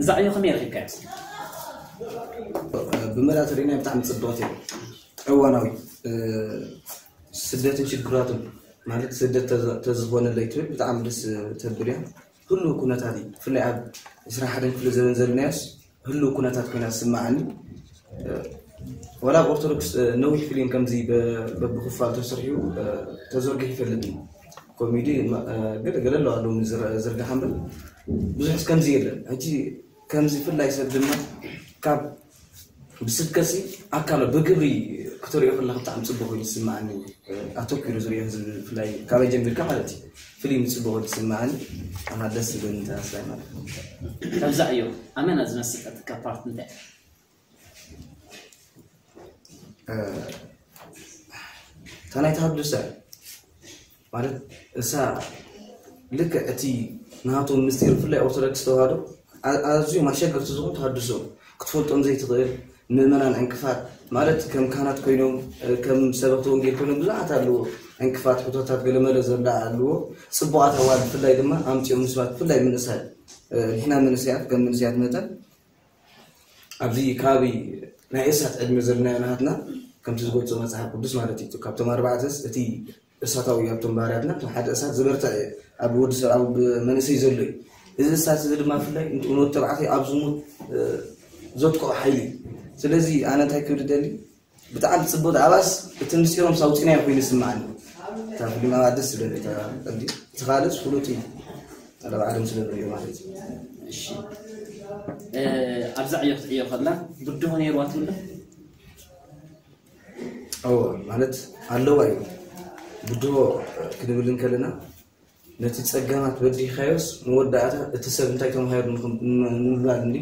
እዛ ዕዮ ከመይ ረኺብካያ? ብመላ ተሪእናዮ ብጣዕሚ ፅብቕቲ እያ። እዋናዊ፣ እ፣ ስደትን ሽግራቱን ማለት ስደት ተዝ-፣ ተዝኾነለይ ትብል ብጣዕሚ ደስ ተብል እያ። ኩሉ ኩነታት እዩ። ብፍላይ ኣብ ዕስራን ሓደን ክፍለ ዘበን ዘለናዮስ ህሉው ኩነታት ኮይና ትስምዓኒ። እ፣ ወላ ኣብ ኦርቶዶክስ፣ እ፣ ነዊሕ ፊልም ከምዚ በ-፣ በብክፋል ተሰሪሑ፣ እ፣ ተዘርጊሑ ይፈልጥ እዩ። ኮሜዲ፣ እ፣ ገለ ገለ ኣለዋ ሎሚ ዝረ-፣ ዝርግሓ እምበር ብዙሕ ከምዚ የለን። ሕጂ ከምዚ ፍላይ ሰብ ድማ ካብ ብስብከሲ ኣካሎ ብግብሪ ክትሪኦ ከለካ ብጣዕሚ ጽቡቕ ኮይኑ ዝስምዓኒ፣ ኣተኪሩ ዝሪኦ ህዝቢ ብፍላይ ካበይ ጀሚርካ ማለት እዩ ፊልም ጽቡቕ ኮይኑ ዝስምዓኒ ኣና ደስ ዝብለኒ ተዋሳይ ማለት እዩ። ካብዛ ዕዮ ኣመና ዝመሰጠትካ ፓርት እንታይ? እታ ናይ ተሃድሶ ማለት እሳ ልክዕ እቲ ናቶም ምስጢር ብፍላይ ኦርቶዶክስ ተዋህዶ ኣ-፣ ኣዝዮም ኣሸገርቲ ዝኾኑ ተሃድሶ ክትፈልጦም ዘይትኽእል ምእመናን ዕንቅፋት ማለት ከም ካህናት ኮይኖም እ፣ ከም ሰበኽቲ ወንጌል ኮይኖም ብዙሓት ኣለዎ ዕንቅፋት ሕቶታት ገለመለ ዘላ ኣለዎ ጽቡቓት ኣዋል ብፍላይ ድማ ኣምፅኦም ምስባት ብፍላይ ምንእሳይ እ፣ ንሕና መንእሰያት ከም መንእሰያት መጠን ኣብዚ ከባቢ ናይ እሳት ዕድመ ዘለናዮ ናሃትና ከምቲ ዝገልፆ መፅሓፍ ቅዱስ ማለት እዩ ካብቶም ኣርባዕተስ እቲ እሳታዊ ኣብቶም ባህርያትና እቶም ሓደ እሳት ዝበርትዕ ኣብ ወዲ ሰብ ኣብ መንእሰይ ዘሎ እዩ እዚ እሳት እዚ ድማ ብፍላይ ንወዲ ተባዕታይ ኣብ ዝሙት እ፣ ዘጥቅዖ ሓይሊ እዩ ስለዚ ኣነ እንታይ ክብል ደሊ ብጣዕሚ ፅቡቅ ኣብኣስ እቲ ምስጢሮም ሳውፂናዮ ኮይኑ ይስምዓኒ እታ ፊልም ኣብኣ ደስ ዝብል እታ ቀልዲ እቲ ካልእስ ፍሉጥ እዩ ኣረብ ዓለም ስለ ንሪኦ ማለት እዩ እሺ ኣብዛ ዕዮ ክትዕዮ ከላ ብድሆ ነይርዋ ትብሎ? እዎ፣ ማለት ኣለዋ እዩ። ብድሆ ክንብል እንከለና ነቲ ጸገማት በዲኻዮስ መወዳእታ እቲ ሰብ እንታይ ተማሂሩ ንምባል እንዲ።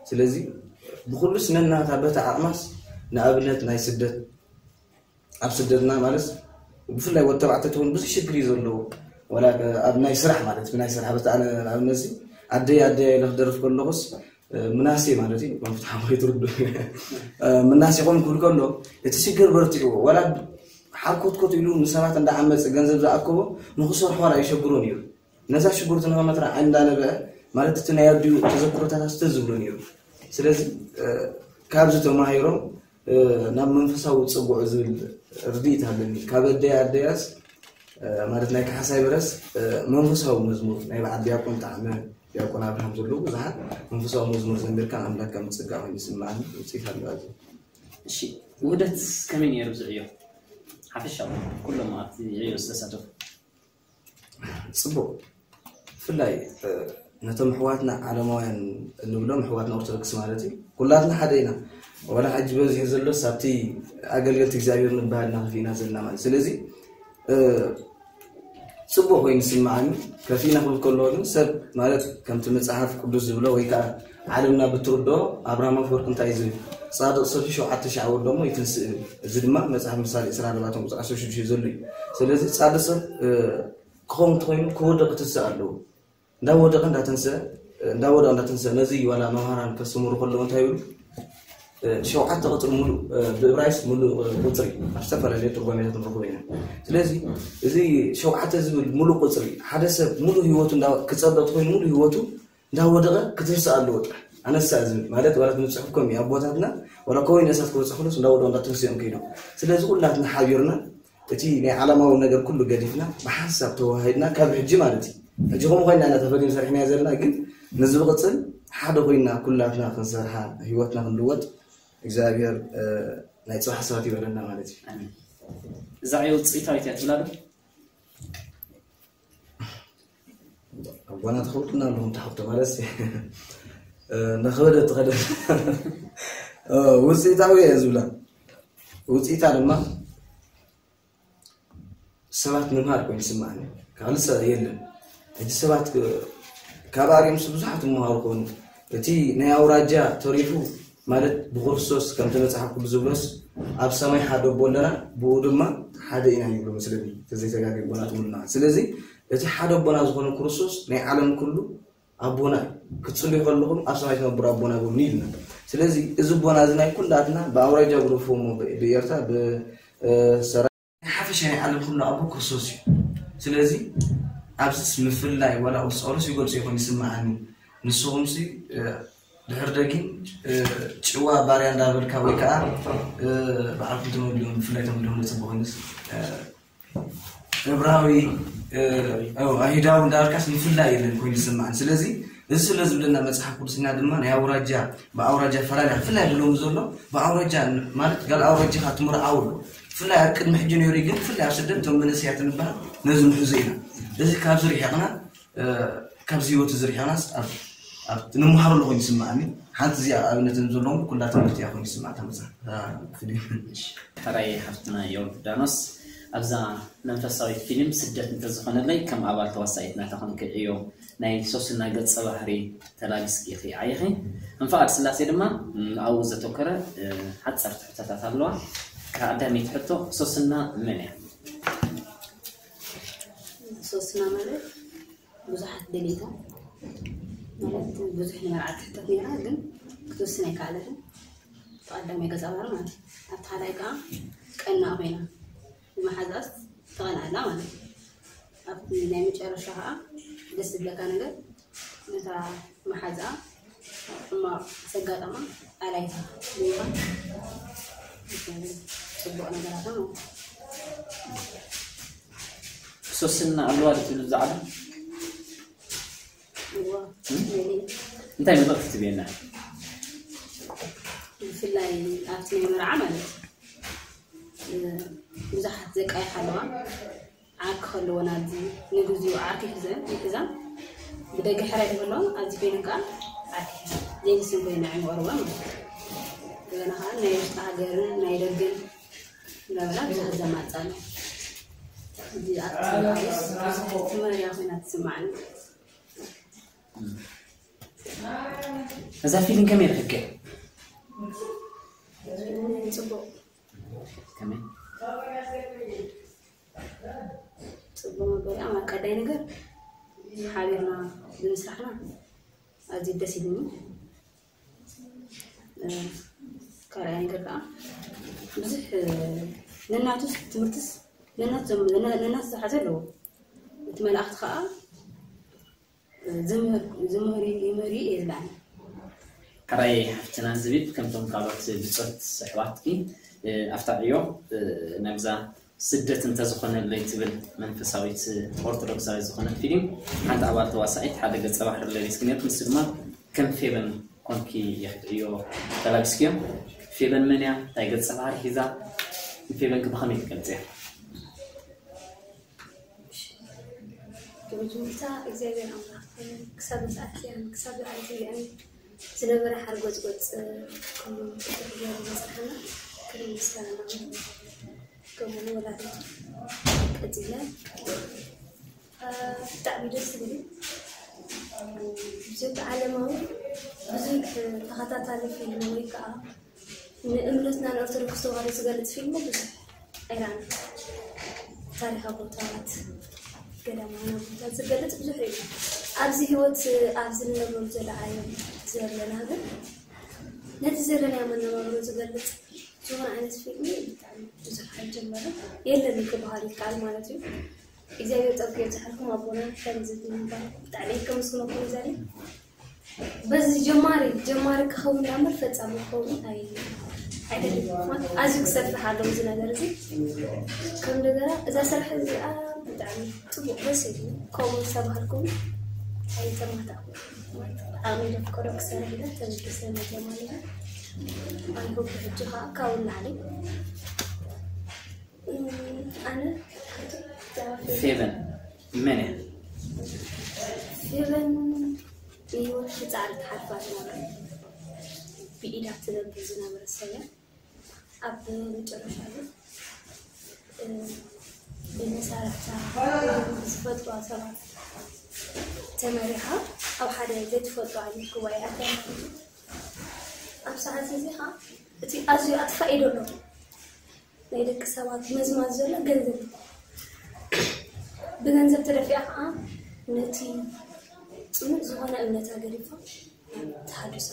ስለዚ ብኩሉስ ነናታ በታ ዓቕማስ ንኣብነት ናይ ስደት ኣብ ስደትና ማለት ብፍላይ ወዲ ተባዕታይ ትኹን ብዙሕ ሽግር እዩ ዘለዎ። ወላ ኣብ ናይ ስራሕ ማለት ብናይ ስራሕ በታ ኣነ ኣብነዚ ኣደይ ኣደይ ኢለ ክደርፍ ከለኹስ ምናሴ ማለት እዩ። መፍትሓ ወይ ትርዱ ምናሴ ኮን ክብል ከሎ እቲ ሽግር በርቲዕዎ ወላ ሓርኮትኮት ኢሉ ንሰባት እንዳዓመፀ ገንዘብ ዝኣከቦ ንክሰርሖ ዋላ ይሸግሮ ነይሩ። ነዛ ሽጉርቲ ንኸመትራ ዓይን እንዳነበዐ ማለት እቲ ናይ ኣዲኡ ተዘክሮታት ኣስተ ዝብሎ ነይሩ። ስለዚ ካብዚ ተማሂሮም ናብ መንፈሳዊ ፅቡዕ ዝብል ርድኢት ኣለኒ። ካብ ኣደይ ኣደያስ ማለት ናይ ካሕሳይ በረስ መንፈሳዊ መዝሙር ናይ በዓል ዲያቆን ጣዕመ ዲያቆን ኣብርሃም ዘለዉ ብዙሓት መንፈሳዊ መዝሙር ዘሚርካ ኣምላክ ከም ፀጋ ኮይኑ ይስምዓኒ። ውፅኢት ኣለዋ። እሺ፣ ውህደት ከመይ ነይሩ ዝዕዮ ሓፈሻዊ ኩሎም ኣብቲ ዕዮ ዝተሳተፉ? ፅቡቅ። ብፍላይ ነቶም ኣሕዋትና ዓለማውያን እንብሎም ኣሕዋትና ኦርቶዶክስ ማለት እዩ ኩላትና ሓደ ኢና። ዋላ ሕጂ በዚሑ ዘሎስ ኣብቲ ኣገልገልቲ እግዚኣብሔር ንበሃል ኢና ከፊእና ዘለና ማለት እዩ። ስለዚ ፅቡቅ ኮይኑ ይስምዓኒ። ከፊእና ክብል ከለዎ ግን ሰብ ማለት ከምቲ መፅሓፍ ቅዱስ ዝብሎ ወይ ከዓ ዓለምና ብትርድኦ ኣብርሃም ኣፈወርቂ እንታይ እዩ ዝብል? ፃድቕ ሰብ ሸውዓተ ሺሕ ዓወት ደሞ ይትንስእ ይብል። እዚ ድማ መፅሓፍ ምሳሌ ዕስራን ኣርባዕተን ቁፅሪ ዓሰርተ ሽዱሽተ ዘሎ እዩ። ስለዚ ፃድቕ ሰብ ክኸውን እንተኮይኑ ክወድቕ ክትንስእ ኣለዎ። እንዳወደቐ እንዳተንስአ እንዳወደቐ እንዳተንስአ ነዚ ዋላ መምሃራን ከስተምሩ ከለዉ እንታይ ይብሉ? ሸውዓተ ቁፅሪ ሙሉእ ብእብራይስ ሙሉእ ቁፅሪ ኣብ ዝተፈላለዩ ትርጓሜታት ንረኽቦ ኢና። ስለዚ እዚ ሸውዓተ ዝብል ሙሉእ ቁፅሪ ሓደ ሰብ ሙሉእ ህይወቱ ክፀበጥ ኮይኑ ሙሉእ ህይወቱ እንዳወደቐ ክትንስእ ኣለዎ ጥራሕ ኣነሳ ዝብል ማለት ዋላ ትንፅሑፍ ከም ኣቦታትና ዋላ ከወይነ እሳት ክበፅሑ ከሎስ እንዳወደቐ እንዳተንስኦም ከይዶም። ስለዚ ኩላትና ሓቢርና እቲ ናይ ዓለማዊ ነገር ኩሉ ገዲፍና ብሓንሳብ ተዋሂድና ካብ ሕጂ ማለት እዩ ሕጂ ከምኡ ኮይና ኢና ተፈሊም ሰሪሕና ዘለና ግን ነዚ ብቅፅል ሓደ ኮይና ኩላትና ክንሰርሓ ህይወትና ክንልወጥ እግዚኣብሔር ናይ ፅባሕ ሰባት ይበለና ማለት እዩ። እዛ ዕዮ ውፅኢታዊት እያ ትብላ ዶ? ኣቦና ተኸውጥና ኣለኹም ተሓፍቶ ማለት ነኸበደ ትኸደ ውፅኢታዊ እየ ዝብላ ውፅኢታ ድማ ሰባት ምምሃር ኮይኑ ይስምዓኒ። ካልእ ሰብ የለን። ሕጂ ሰባት ካብ ኣርዮምስ ብዙሓት ይመሃሩ ኮኑ። እቲ ናይ ኣውራጃ ተሪፉ ማለት ብክርስቶስ ከምቲ መጽሓፍ ቅዱስ ዝብሎስ ኣብ ሰማይ ሓደ ኣቦ ኣለና ብኡ ድማ ሓደ ኢና ይብሉ መስለኒ ተዘይተጋግየ ኣቦና ትብሉና። ስለዚ እቲ ሓደ ኣቦና ዝኾነ ክርስቶስ ናይ ዓለም ኩሉ ኣቦና እዩ። ክትጽልዩ ከለኹም ኣብ ሰማይ ትነብሩ ኣቦና በሉኒ ኢልና። ስለዚ እዚ ኣቦና እዚ ናይ ኩላትና ብኣውራጃ ግደፍዎ እሞ ብኤርትራ ብሰራ ናይ ሓፈሻ ናይ ዓለም ኩሉ ኣቦ ክርስቶስ እዩ። ስለዚ ኣብዚስ ምፍልላይ ዋላ ቅዱስ ጳውሎስ ይገልጾ ይኾን ይስምዓኒ። ንስኹምሲ ድሕር ደጊም ጭዋ ባርያ እንዳበልካ ወይ ከዓ ባዕልኩም ተመልዮም ብፍላይ ተመልዮም ንፅቡቅ ይንስ እብራዊ ኣይሁዳዊ እንዳበልካስ ምፍላይ የለን ኮይኑ ይስምዓኒ። ስለዚ እዚ ስለ ዝብለና መፅሓፍ ቅዱስና ድማ ናይ ኣውራጃ ብኣውራጃ ፈላልያ ብፍላይ ብሎም ዘሎ ብኣውራጃ ማለት ጋል ኣውራጃኻ ትምርዓው ኣሎ። ብፍላይ ኣብ ቅድሚ ሕጂ ነይሩ ግን ብፍላይ ኣብ ስደት እቶም መንእሰያት ንበሃል ነዚ ንሕዙ ኢና። እዚ ካብዚ ርሒቕና ካብዚ ህይወት እዚ ርሒቕናስ ኣብ ንምሃረሉ ኮይኑ ይስምዓኒ። ሓንቲ እዚኣ ኣብነትን ዘለዎም ኩላ ትምህርቲ እያ ኮይኑ ይስምዓ ተመፃ ሕራይ ሓፍትና ዮርዳኖስ ኣብዛ መንፈሳዊት ፊልም ስደት እንተዝኾነለይ ከም ኣባል ተዋሳኢት ናታ ኮንኪ ዕዮ ናይ ሶስና ገፀ ባህሪ ተላቢስኪ ኢኺ ዓይኺ። ንፍቓድ ስላሴ ድማ ኣብኡ ዘተኮረ ሓፀርቲ ሕቶታት ኣለዋ። ቀዳመይቲ ሕቶ ሶስና መን እያ? ሶስና ማለት ብዙሓት ደሌታ ማለት ብዙሕ ንመርዓ ትሕተት ነይራ ግን ክትወስን ኣይከኣለትን። ተቐዳማይ ገፀ ባህሪ ማለት እዩ። ኣብቲ ካልኣይ ከዓ ቀና ኮይና ብመሓዛስ ተቐንኣላ ማለት እዩ። ኣብቲ ናይ መጨረሻ ከዓ ደስ ዝብለካ ነገር ነታ መሓዛኣ ሕማቕ ዘጋጠማ ኣላይታ ብምዃን ፅቡቕ ነገራታ ማለት እዩ። ሶስና ኣለዋ ዶ ትብል እዛ ዓለም? እንታይ መልእኽቲ ትብየና? ብፍላይ ኣብቲ ናይ መርዓ ማለት ብዙሓት ዘቃይሓ ኣለዋ። ዓርኪ ከለዎ ናብዚ ንግዚኡ ዓርኪ ይሕዘን ይሕዛን ብደገ ሕራይ ተበሎ ኣብዚ ኮይነን ከዓ ዘይንስን ኮይና ኣይምቐርቦን ማለት እዩ። እንደገና ከዓ ናይ ውሽጢ ሃገርን ናይ ደገን እንዳበላ ብዙሓት ዘማፃሉ። እዚ ኣብቲ ሰብኣይስ ብዙሕ ትመርያ ኮይና ትስማዕኒ። እዛ ፊልም ከመይ ረኺብኪ? ፅቡቅ ከመይ? ፅቡቅ መበል ኣብ ቀዳይ ነገር ሓቢርና ብምስራሕና ኣዝዩ ደስ ኢሉኒ። ካልኣይ ነገር ከዓ ብዙሕ ነናቱ ትምህርትስ ነናቱ ዝሓዘ ኣለዎ። እቲ መላእክቲ ከዓ ዝምህር ይምህር የላን። ሕራይ ሓፍትና ዝብል ከምቶም ካልኦት ብፆት ኣሕዋትኪ ኣብታ ዕዮ ናብዛ ስደት እንተዝኾነለይ ትብል መንፈሳዊት ኦርቶዶክሳዊት ዝኾነት ፊልም ሓንቲ ኣባል ተዋሳኢት ሓደ ገፀ ባህሪ ለቢስኪ ነርኪ። ንሱ ድማ ከም ፌበን ኮንኪ ኢኺ ዕዮ ተላቢስክዮ። ፌበን መን እያ? እንታይ ገፀ ባህሪ ሒዛ? ንፌበን ከ ብኸመይ ትገልፅያ? ብመጀመርታ እግዚኣብሔር ኣምላኽ ክሳብ ዝኣክያን ክሳብ ዝኣክያን ዝነበረ ሓርጎፅጎፅ ኩሉ ክገብር ዘፅናሕና ክብሪ ምስጋና ናብኡ። ከምኡ ወላዲቱ ቀፂለ ብጣዕሚ ደስ ዝብል ብዙሕ ዓለማዊ ብዙሕ ተኸታታሊ ፊልም ወይ ከዓ ንእምነትና ንኦርቶዶክስ ተዋህዶ ዝገልፅ ፊልም ብዙሕ ኣይረኣና። ታሪኻዊ ቦታታት ገዳማውያን ቦታታት ዝገልፅ ብዙሕ እዩ። ኣብዚ ህይወት ኣብዚ ንነብረሉ ዘለዓለም ዘለና ግን ነቲ ዘለናዮ መነባብሮ ዝገልፅ ዝኾነ ዓይነት ፊልም ብጣዕሚ ብዙሕ ኣይጀመረን የለን ክበሃል ይከኣል ማለት እዩ። እግዚኣብሔር ጸጉ የብዝሓልኩም ኣቦና ከምዚ ብምባል ብጣዕሚ ከመስግነኩም ይዛኒ። በዚ ጀማሪ ጀማሪ ክኸውን ዳምበር ፈጻሚ ክኸውን ኣይ ኣይደልን። ኣዝዩ ክሰፍሕ ኣለዎ እዚ ነገር እዚ። ከም እንደገና እዛ ስራሕ እዚኣ ብጣዕሚ ጽቡቕ ደስ ኢሉ ከምኡ ዝተባህልኩም ኣይተማታእኩ። ብጣዕሚ ዘፍቀዶ ክሰርሕ ኢለ ተበጊሰ መጀመርያ ኣይሆፕ ሕጂ ከዓ ካብኡ ንላዕሊ ኣነ ፌቨን መን እያ? ፌቨን ንህይወት ብፃዕሪ ትሓልፋ ዝነበረ ብኢዳ ትነብር ዝነበረ ሰብ እያ። ኣብ መጨረሻ ግን ብመሳርሕታ ዝፈጥሯ ሰባት ተመሪሓ ኣብ ሓደ ዘይትፈልጦ ዓይነት ጉባኤ ኣትያ ማለት እዩ። ኣብ ሰዓት እዚ ከዓ እቲ ኣዝዩ ኣጥፋኢ ዘሎ ናይ ደቂ ሰባት መዝማዝ ዘሎ ገንዘብ እዩ። ብገንዘብ ተደፊኣ ከዓ ነቲ ፅኑዕ ዝኾነ እምነታ ገዲፋ ናብ ተሃድሶ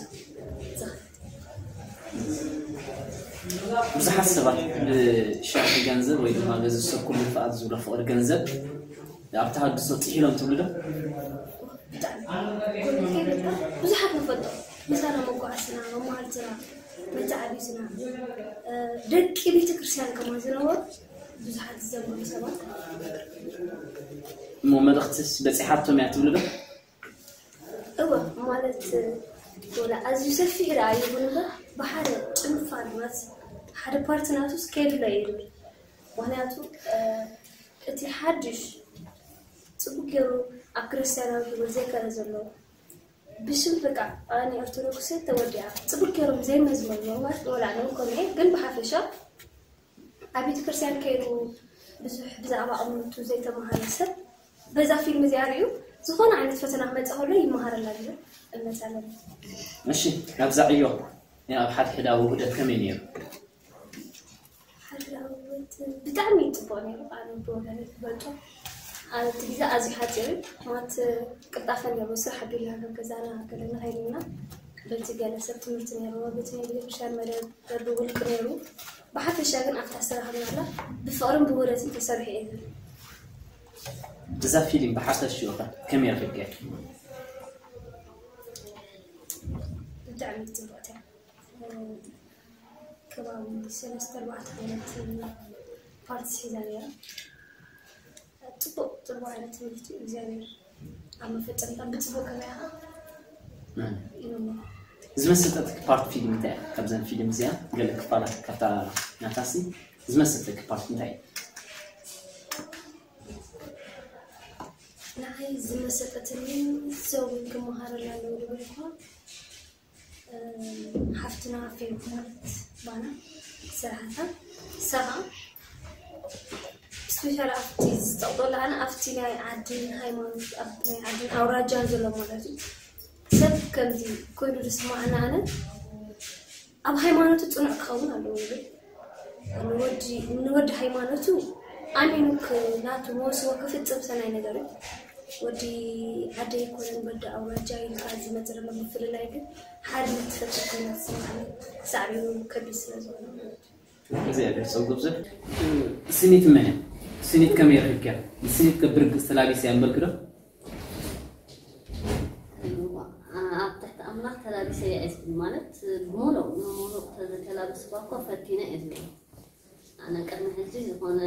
ዝኸደት። ብዙሓት ሰባት ብሻርሒ ገንዘብ ወይ ድማ በዚ ሰብ ኩሉ ፍቓድ ዝብሎ ፍቕሪ ገንዘብ ኣብ ተሃድሶ ጥሒሎም ትብሉ ዶ? ብጣዕሚ ጎልቢከ ይበልካ ብዙሓት ንፈልጦ ምሳና መጓዓስና መማሃልትና መተዓቢትና ደቂ ቤተ ክርስቲያን ከማ ዝነበሩ ብዙሓት ዝዘምሩ ሰባት እሞ መልእኽትስ በፂሓቶም እያ ትብሉ ዶ? እወ ማለት ወላ ኣዝዩ ሰፊሕ ደኣ ይኹን እምበር ብሓደ ጭንፋር ናት ሓደ ፓርቲ ናቱስ ከየድሎ እየ ዝብል። ምክንያቱ እቲ ሓድሽ ፅቡቅ ገይሩ ኣብ ክርስትያናዊ ህይወት ዘይከረ ዘሎ ብሽም በቃ ኣነ ኦርቶዶክስ ተወዲኣ ፅቡቅ ገይሮም ዘይመዝመዝሞ ማለት ወላ ነው ከምኡ ግን ብሓፈሻ ኣብ ቤተክርስትያን ከይዱ ብዙሕ ብዛዕባ እምነቱ ዘይተምሃረ ሰብ በዛ ፊልም እዚኣ ሪኡ ዝኾነ ዓይነት ፈተና ክመፅእ ከሎ ይመሃረላ ዝብል እምነት ኣለኒ። እሺ ናብዛ ዕዮ ናይ ኣብ ሓድሕዳዊ ውህደት ከመይ ነይሩ? ሓድሕዳዊ ውህደት ብጣዕሚ እዩ ፅቡቅ ነይሩ። ኣነ ብወገነይ ክገልፆ ኣብቲ ግዜ ኣዝዩ ሓፂር እዩ ማለት ቅልጣፈ ነይሩ። ስራሕ ኣቢልና ካብ ገዛና ገለ ንኸይድ ኢና በቲ ገለ ሰብ ትምህርቲ ነይርዎ በቲ ናይ ቤተክርስትያን መደብ በብውልቂ ነይሩ። ብሓፈሻ ግን ኣብታ ዝተረኸብናላ ብፍቕርን ብውህደትን ተሰሪሑ እዩ ዝብል። እዛ ፊልም ብሓፈሽኡ ኸ ከመይ ረኺብክያ? ብጣዕሚ ፅብቕቲ እያ። ከባቢ ሰለስተ ኣርባዕተ ዓይነት ፓርትስ ሒዛ ነይራ። ፅቡቕ ፅቡቕ ዓይነት ትምህርቲ እግዚኣብሔር ኣብ መፈፀምታ ብፅቡቕ ከመያኻ ዝመሰጠትኪ ፓርት ፊልም እንታይ እያ? ካብዘን ፊልም እዚኣ ገለ ክፋላት ካብታ ናታሲ ዝመሰጠኪ ፓርት እንታይ እዩ? ንዓይ ዝመሰጠትኒ ሰው ክመሃረላ ኣለዎ ዝብል እኳ ሓፍትና ፌብ ማለት ባና ስራሕታ ሰኻ ስፔሻል ኣብቲ ዝጠቕጠሉ ኣነ ኣብቲ ናይ ዓድን ሃይማኖት ኣብ ናይ ዓድን ኣውራጃን ዘሎ ማለት እዩ። ሰብ ከምዚ ኮይኑ ዝስማዕና ኣነ ኣብ ሃይማኖቱ ፅኑዕ ክኸውን ኣለዎ ይብል። ንወዲ ንወዲ ሃይማኖቱ ኣሚኑ ክ- ናቱ መወስቦ ክፍፅም ሰናይ ነገር እዩ። ወዲ ዓደ ይኮነን ወዲ ኣውራጃ ኢልካ ዝመፅእ ዘሎ ምፍልላይ ግን ሓድነት ትፈጥር ኮይና ትስምዓኒ። ሳዕቤኑ ከቢድ ስለ ዝኾነ ማለት እዩ። እግዚኣብሔር ጸጉ ብዙሕ። ስኒት መን እያ? ስኒት ከመይ ረኺብክያ? ንስኒት ከብርግጽ ተላቢሰ እያ እምበልኪ ዶ? ኣብ ትሕቲ ኣምላኽ ተላቢሰ እየ ዝብል ማለት ብሙሉእ ንሙሉእ ተዘተላበስኳ እኮ ፈቲነ እየ ዝብል። ኣነ ቅድሚ ሕጂ ዝኾነ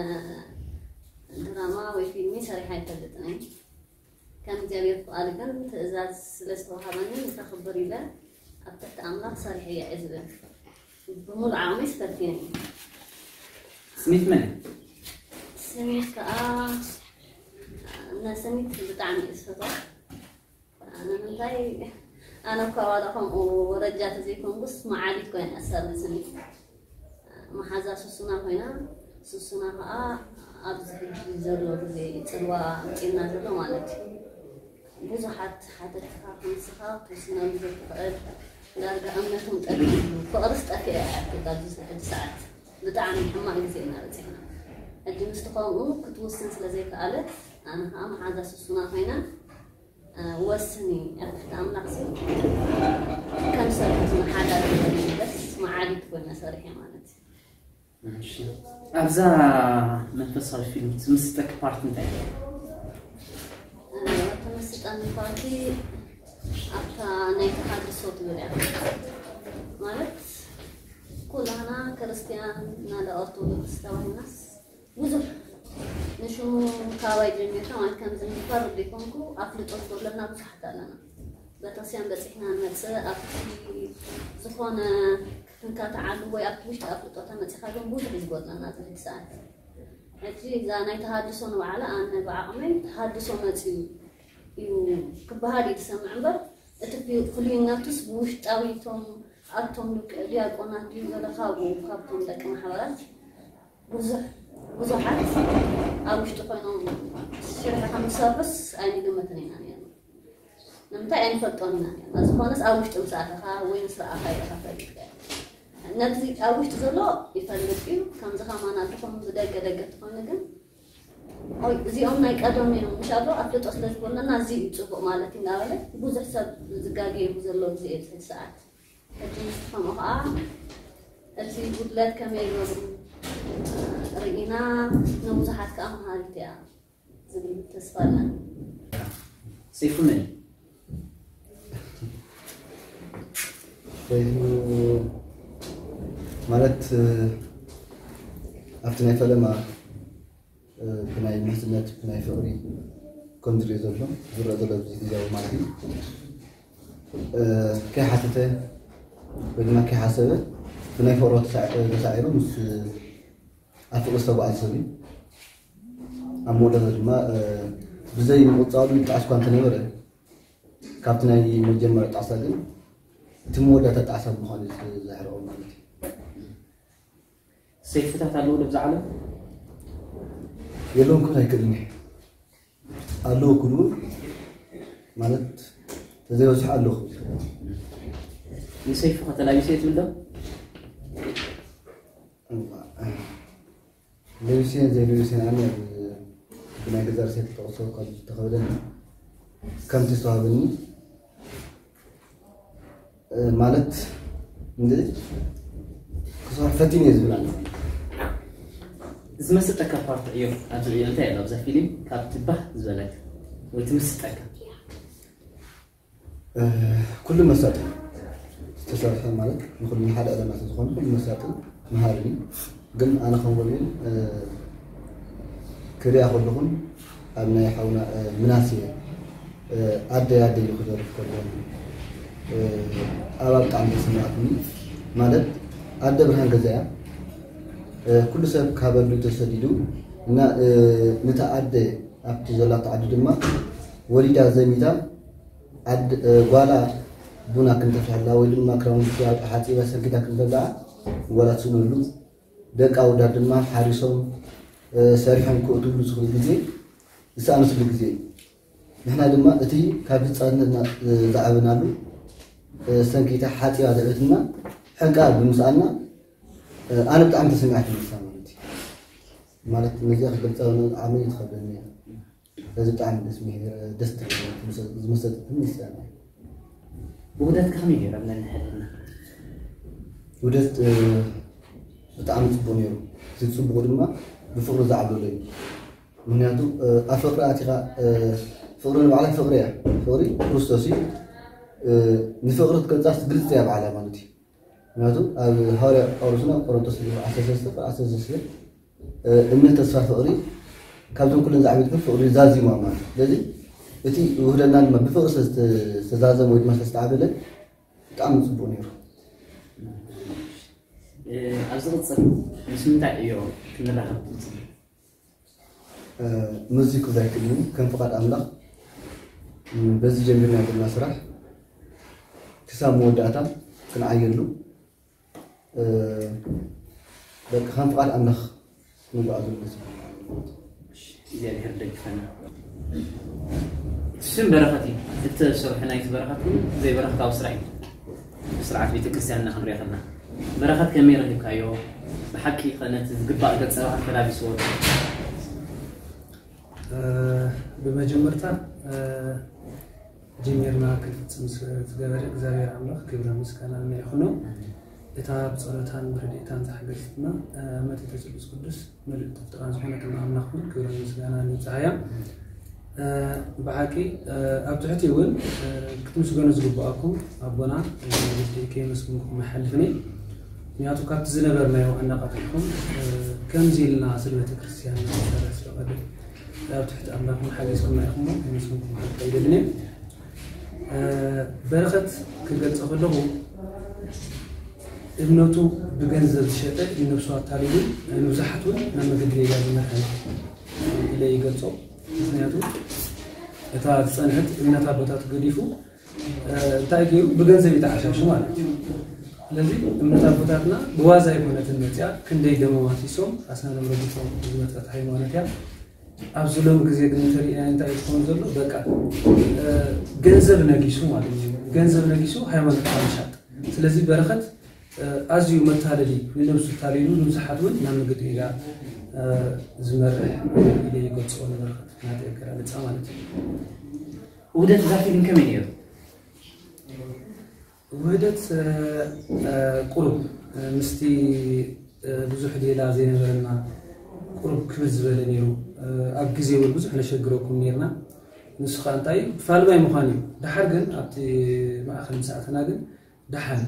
ድራማ ወይ ፊልሚ ሰሪሓ ኣይፈልጥን እየ። ከም እግዚኣብሔር ፍቓድ ግን ትእዛዝ ስለ ዝተዋሃበኒ ንከኽብር ኢለ ኣብ ትሕቲ ኣምላኽ ሰሪሐ እየ ዝብል ብሙሉእ ዓቕመይ ፈቲነ እየ። ስኒት መን እያ? ስኒት ከዓ ነስኒት ብጣዕሚ እየ ዝፈትዋ። ንምንታይ ኣነ እኳ ዋላ ከምኡ ወረጃ ተዘይኮንኩስ መዓሊት ኮይና እያ ሳብ ስኒት መሓዛ ሱሱና ኮይና ሱሱና ከዓ ኣብዚ ሕጂ ዘሎ ግዜ ፅልዋ ኣምፂእና ዘሎ ማለት እዩ። ብዙሓት ሓተትካ ክንስኻ ክትውስነሉ ዘይትኽእል ዳርጋ እምነቶም ጠፊኡ ፍቕርስ ጠፊአ እያ ኣብዚ ሕጂ ሰዓት ብጣዕሚ ሕማቕ ግዜ ኢና በፂሕና። ሕጂ ምስቲ ከምኡ ክትውስን ስለ ዘይከኣለት ኣነ ከዓ መሓዛ ሱሱና ኮይና ወስኒ ኣብ ትሕቲ ኣምላኽ ሲ ከም ሰብ ዝመሓዳደር በስ መዓሊት ኮይነ ሰሪሐ ማለት እዩ። እሺ። ኣብዛ መንፈሳዊ ፊልም ትምስጠክ ፓርት እንታይ እዩ? ተመስጠኒ ፓርቲ ኣብታ ናይ ተሃድሶ ትብል እያ ማለት ኩላህና ክርስትያን ናለ ኦርቶዶክስ ተባሂልናስ ብዙሕ ንሽሙ ካባይ ጀሚርካ ማለት ከምዚ ንፈርድ ይኮንኩ ኣፍልጦ ዝጎድለና ብዙሓት ኣለና። ቤተክርስትያን በፂሕና ንመፅእ ኣብቲ ዝኾነ ክንካትዓሉ ወይ ኣብቲ ውሽጢ ኣፍልጦ ተመፂኻ ግን ብዙሕ እዩ ዝጎድለና ኣብዚ ሕጂ ሰዓት። ሕጂ እዛ ናይ ተሃድሶ ንባዕላ ኣነ ብዓቕመይ ተሃድሶ መፅዩ እዩ ክበሃል እዩ ዝሰምዕ እምበር እቲ ፍልዩነቱስ ብውሽጣዊ እቶም ኣብቶም ዲያቆናት ድዩ ገለ ካብኡ ካብቶም ደቂ ማሕበራት ብዙሕ ብዙሓት ኣብ ውሽጢ ኮይኖም ሽርሒ ከም ዝሰርሑስ ኣይንግምትን ኢና ነርና። ንምንታይ ኣይንፈልጦን ኢና ነርና። ዝኾነስ ኣብ ውሽጢ ምስ ኣተኻ ወይ ምስ ረኣኻ ኢኻ ፈሊጥካ። ነዚ ኣብ ውሽጢ ዘሎ ይፈልጥ እዩ። ከምዚ ከማን ኣድኹም ብደገ ደገ ትኾኑ ግን ኦይ እዚኦም ናይ ቀደም እዮም ምሻሎ ኣፍልጦ ስለ ዝኮነና እዚ እዩ ፅቡቅ ማለት እዩ እናበለ ብዙሕ ሰብ ዝጋገየሉ ዘሎ ግዜ እዩ ዝሕጂ ሰዓት ሕጂ ንስኹም ከዓ እቲ ጉድለት ከመይ ገሩ ርኢና ንብዙሓት ከዓ መሃሪት እያ ዝብል ተስፋ ኣለና። ሰይፉ መን እዩ? ሰይፉ ማለት ኣብቲ ናይ ፈለማ ብናይ ምሕዝነት ብናይ ፍቕሪ ከም ዝሪኦ ዘሎ ዝረአ ዘሎ ኣብዚ ግዜያዊ ማለት እዩ። ከይሓተተ ወይ ድማ ከይሓሰበ ብናይ ፍቕሮ ተሳዒሩ ምስ ኣብ ፍቕሪ ዝተጓዓዘ ሰብ እዩ። ኣብ መወዳእታ ድማ ብዘይ ምቕፃሉ ይጣዕስ እኳ እንተነበረ ካብቲ ናይ መጀመርያ ጣዕሳ ግን እቲ መወዳእታ ጣዕሳ ብምዃኑ እዩ ዘሕርቖ ማለት እዩ። ሰይፍታት ኣለዉ ኣብዚ ዓለም? የለውን ክብል ኣይክእልን እየ። ኣለዉ ክብል እውን ማለት ተዘይበዝሑ ኣለዉ ክብል ይኽእል። ንሰይፉ ከተላቢሰ ትብል ዶ? ለቢሰን ዘይለቢሰን ኣነ ብናይ ገዛ ርእሰይ ተጠቕሶ ካብ ዝተኸበደኒ ከምቲ ዝተዋህበኒ ማለት እንደ ክሰርሕ ፈቲነ እየ ዝብል ኣሎ። ዝመስጠካ ፓርት ዕዮ ኣብዚ ዕዮ እንታይ ኣሎ ኣብዛ ፊልም ካብ ትባህ ዝበለክ ወይ ትምስጠካ? ኩሉ መሳጢ ዝተሰርሐ ማለት ንኩሉ ንሓደ ዕላማ ዝኾነ ኩሉ መሳጢ መሃሪ እዩ። ግን ኣነ ከም ወልዊን ክሪኣ ከለኹን ኣብ ናይ ሓውና ምናሴ ኣደይ ኣደይ ኢሉ ክደርፍ ከሎ ኣባ ብጣዕሚ ተሰማዕትኒ። ማለት ኣደ ብርሃን ገዛ እያ። ኩሉ ሰብ ካበሉ ተሰዲዱ እና ነታ ኣደ ኣብቲ ዘላቶ ዓዲ ድማ ወሊዳ ዘሚታ ጓላ ቡና ክንተፍልሐላ ወይ ድማ ክራውንቲ ሓፂባ ሰንኪታ ክንተብልዓ፣ ጓላት ስእነሉ፣ ደቂ ኣውዳት ድማ ሓሪሶም ሰሪሖም ክእትውሉ ዝኽእሉ ግዜ ዝሰኣንስሉ ግዜ እዩ። ንሕና ድማ እቲ ካብ ህፃንነትና ዝዓበናሉ ሰንኪታ ሓፂባ ዘዕበትና ሕንቃ ብምስኣና፣ ኣነ ብጣዕሚ ተሰሚዓት ይመስላ ማለት እዩ። ማለት ነዚኣ ክገልፃ ዓመይ ትኸብደኒ እያ። ስለዚ ብጣዕሚ ደስ ምሂር ደስ ትብል ዝመሰጥትን ይስላም። ውህደት ከመይ ገይሮም ነንሕድና? ውህደት ብጣዕሚ ፅቡቅ ነይሩ። እቲ ፅቡቅ ድማ ብፍቅሪ ዝዓብለሎ እዩ። ምክንያቱ ኣብ ፍቅሪ ኣቲኻ፣ ፍቅሪ ንባዕላ ፍቅሪ እያ። ፍቅሪ ክርስቶስ እዩ። ንፍቅሪ ትገልፃ ግልፂ እያ ባዕላ ማለት እዩ። ምክንያቱ ኣብ ሃዋርያ ጳውሎስና ቆሮንቶስ ዓሰርተ ሰለስተ ዓሰርተ ሰለስተ እምነት፣ ተስፋ፣ ፍቅሪ ካብቶም ኩለን ዝዓበየት ግን ፍቅሪ ዛዚማ ማለት እዩ። ስለዚ እቲ ውህደትና ድማ ብፍቅሪ ዝተዛዘመ ወይ ድማ ዝተዓበለ ብጣዕሚ ፅቡቅ ነይሩ። ኣብ ዝቕፅል ምስ ምንታይ ዕዮ ክንራኸብ ትፅበ? ምዚ ክብላ ኣይክእልን። ከም ፍቓድ ኣምላኽ በዚ ጀሚርና ዘለና ስራሕ ክሳብ መወዳእታ ክንዓየሉ በቃ ከም ፍቓድ ኣምላኽ ንጓዓዘሉ። እግዚኣብሔር ደግፈና። እቲ ሽም በረኸት እዩ። እቲ ስርሑ ናይቲ በረኸት ግን ዘይበረኸታዊ ስራሕ እዩ። ብስርዓት ቤተክርስትያንና ክንሪኦ ከለና በረኸት ከመይ ረኺብካዮ? ብሓቂ ከ ነቲ ዝግባእ ገጸ ባህሪ ተላቢስዎ ዶ? ብመጀመርታ ጀሚርና ክንፍፅም ዝገበረ እግዚኣብሔር ኣምላኽ ክብረ ምስጋና ንዕኹኖ። እታ ብፀሎታን ብረድኤታን ዝሓገዘትና መቴተ ስሉስ ቅዱስ ምልእቲ ፍጥራን ዝኾነት ኣምላኽ እውን ክብረ ምስጋና ንብፅሓያ። ብሓቂ ኣብ ትሕቲ እውን ክትምስገኑ ዝግብኣኩም ኣቦና ከየመስግንኩም ኣይሓልፍን እየ። ምክንያቱ ካብቲ ዝነበርናዮ ኣነቓቒሕኩም ከምዚ ኢልና ስለ ቤተክርስትያን ንሰርሕ ስለቐድም ኣብ ትሕቲ ኣምላኽኩም ሓጊዝኩምና ኢኹም እሞ ከመስግንኩም ሓቂ ኣይደልን እየ። በረኸት ክገልጾ ከለኹ እምነቱ ብገንዘብ ዝሸጠ ንነብሱ ኣታሊሉ ንብዙሓት እውን ናብ መገዲ ጌጋ ዝመርሐ ኢለ ይገልጾ። ምክንያቱ እታ ዝጸንሐት እምነት ኣቦታቱ ገዲፉ እንታይ ገይሩ ብገንዘብ ይተዓሻሹ ማለት እዩ። ስለዚ እምነት ኣቦታትና ብዋዛ ኣይኮነትን መፅያ፣ ክንደይ ደሞም ኣፍሲሶም ኣስናኖም ረጊፎም ዝመፀት ሃይማኖት እያ። ኣብዚ ሎም ግዜ ግን እንተሪእና እንታይ እዩ ዝኸውን ዘሎ? በቃ ገንዘብ ነጊሱ ማለት እዩ። ገንዘብ ነጊሱ ሃይማኖት ምሻጥ። ስለዚ በረኸት ኣዝዩ መታለሊ፣ ንነብሱ ታሊሉ ንብዙሓት እውን ናብ መገዲ ጌጋ ዝመርሕ ኢለ ይገልፅኦ ንበረኸት ናተይ ኣገላልፃ ማለት እዩ። ውህደት እዛ ፊልም ከመይ ነይሩ? ውህደት ቁሩብ ምስቲ ብዙሕ ሌላ ዘይነበረና ቁሩብ ክብድ ዝበለ ነይሩ። ኣብ ግዜ እውን ብዙሕ ነሸግረኩም ነርና። ንሱ ከዓ እንታይ እዩ ፋልማይ ምዃን እዩ። ደሓር ግን ኣብቲ ማእኸል ምስ ኣተና ግን ደሓን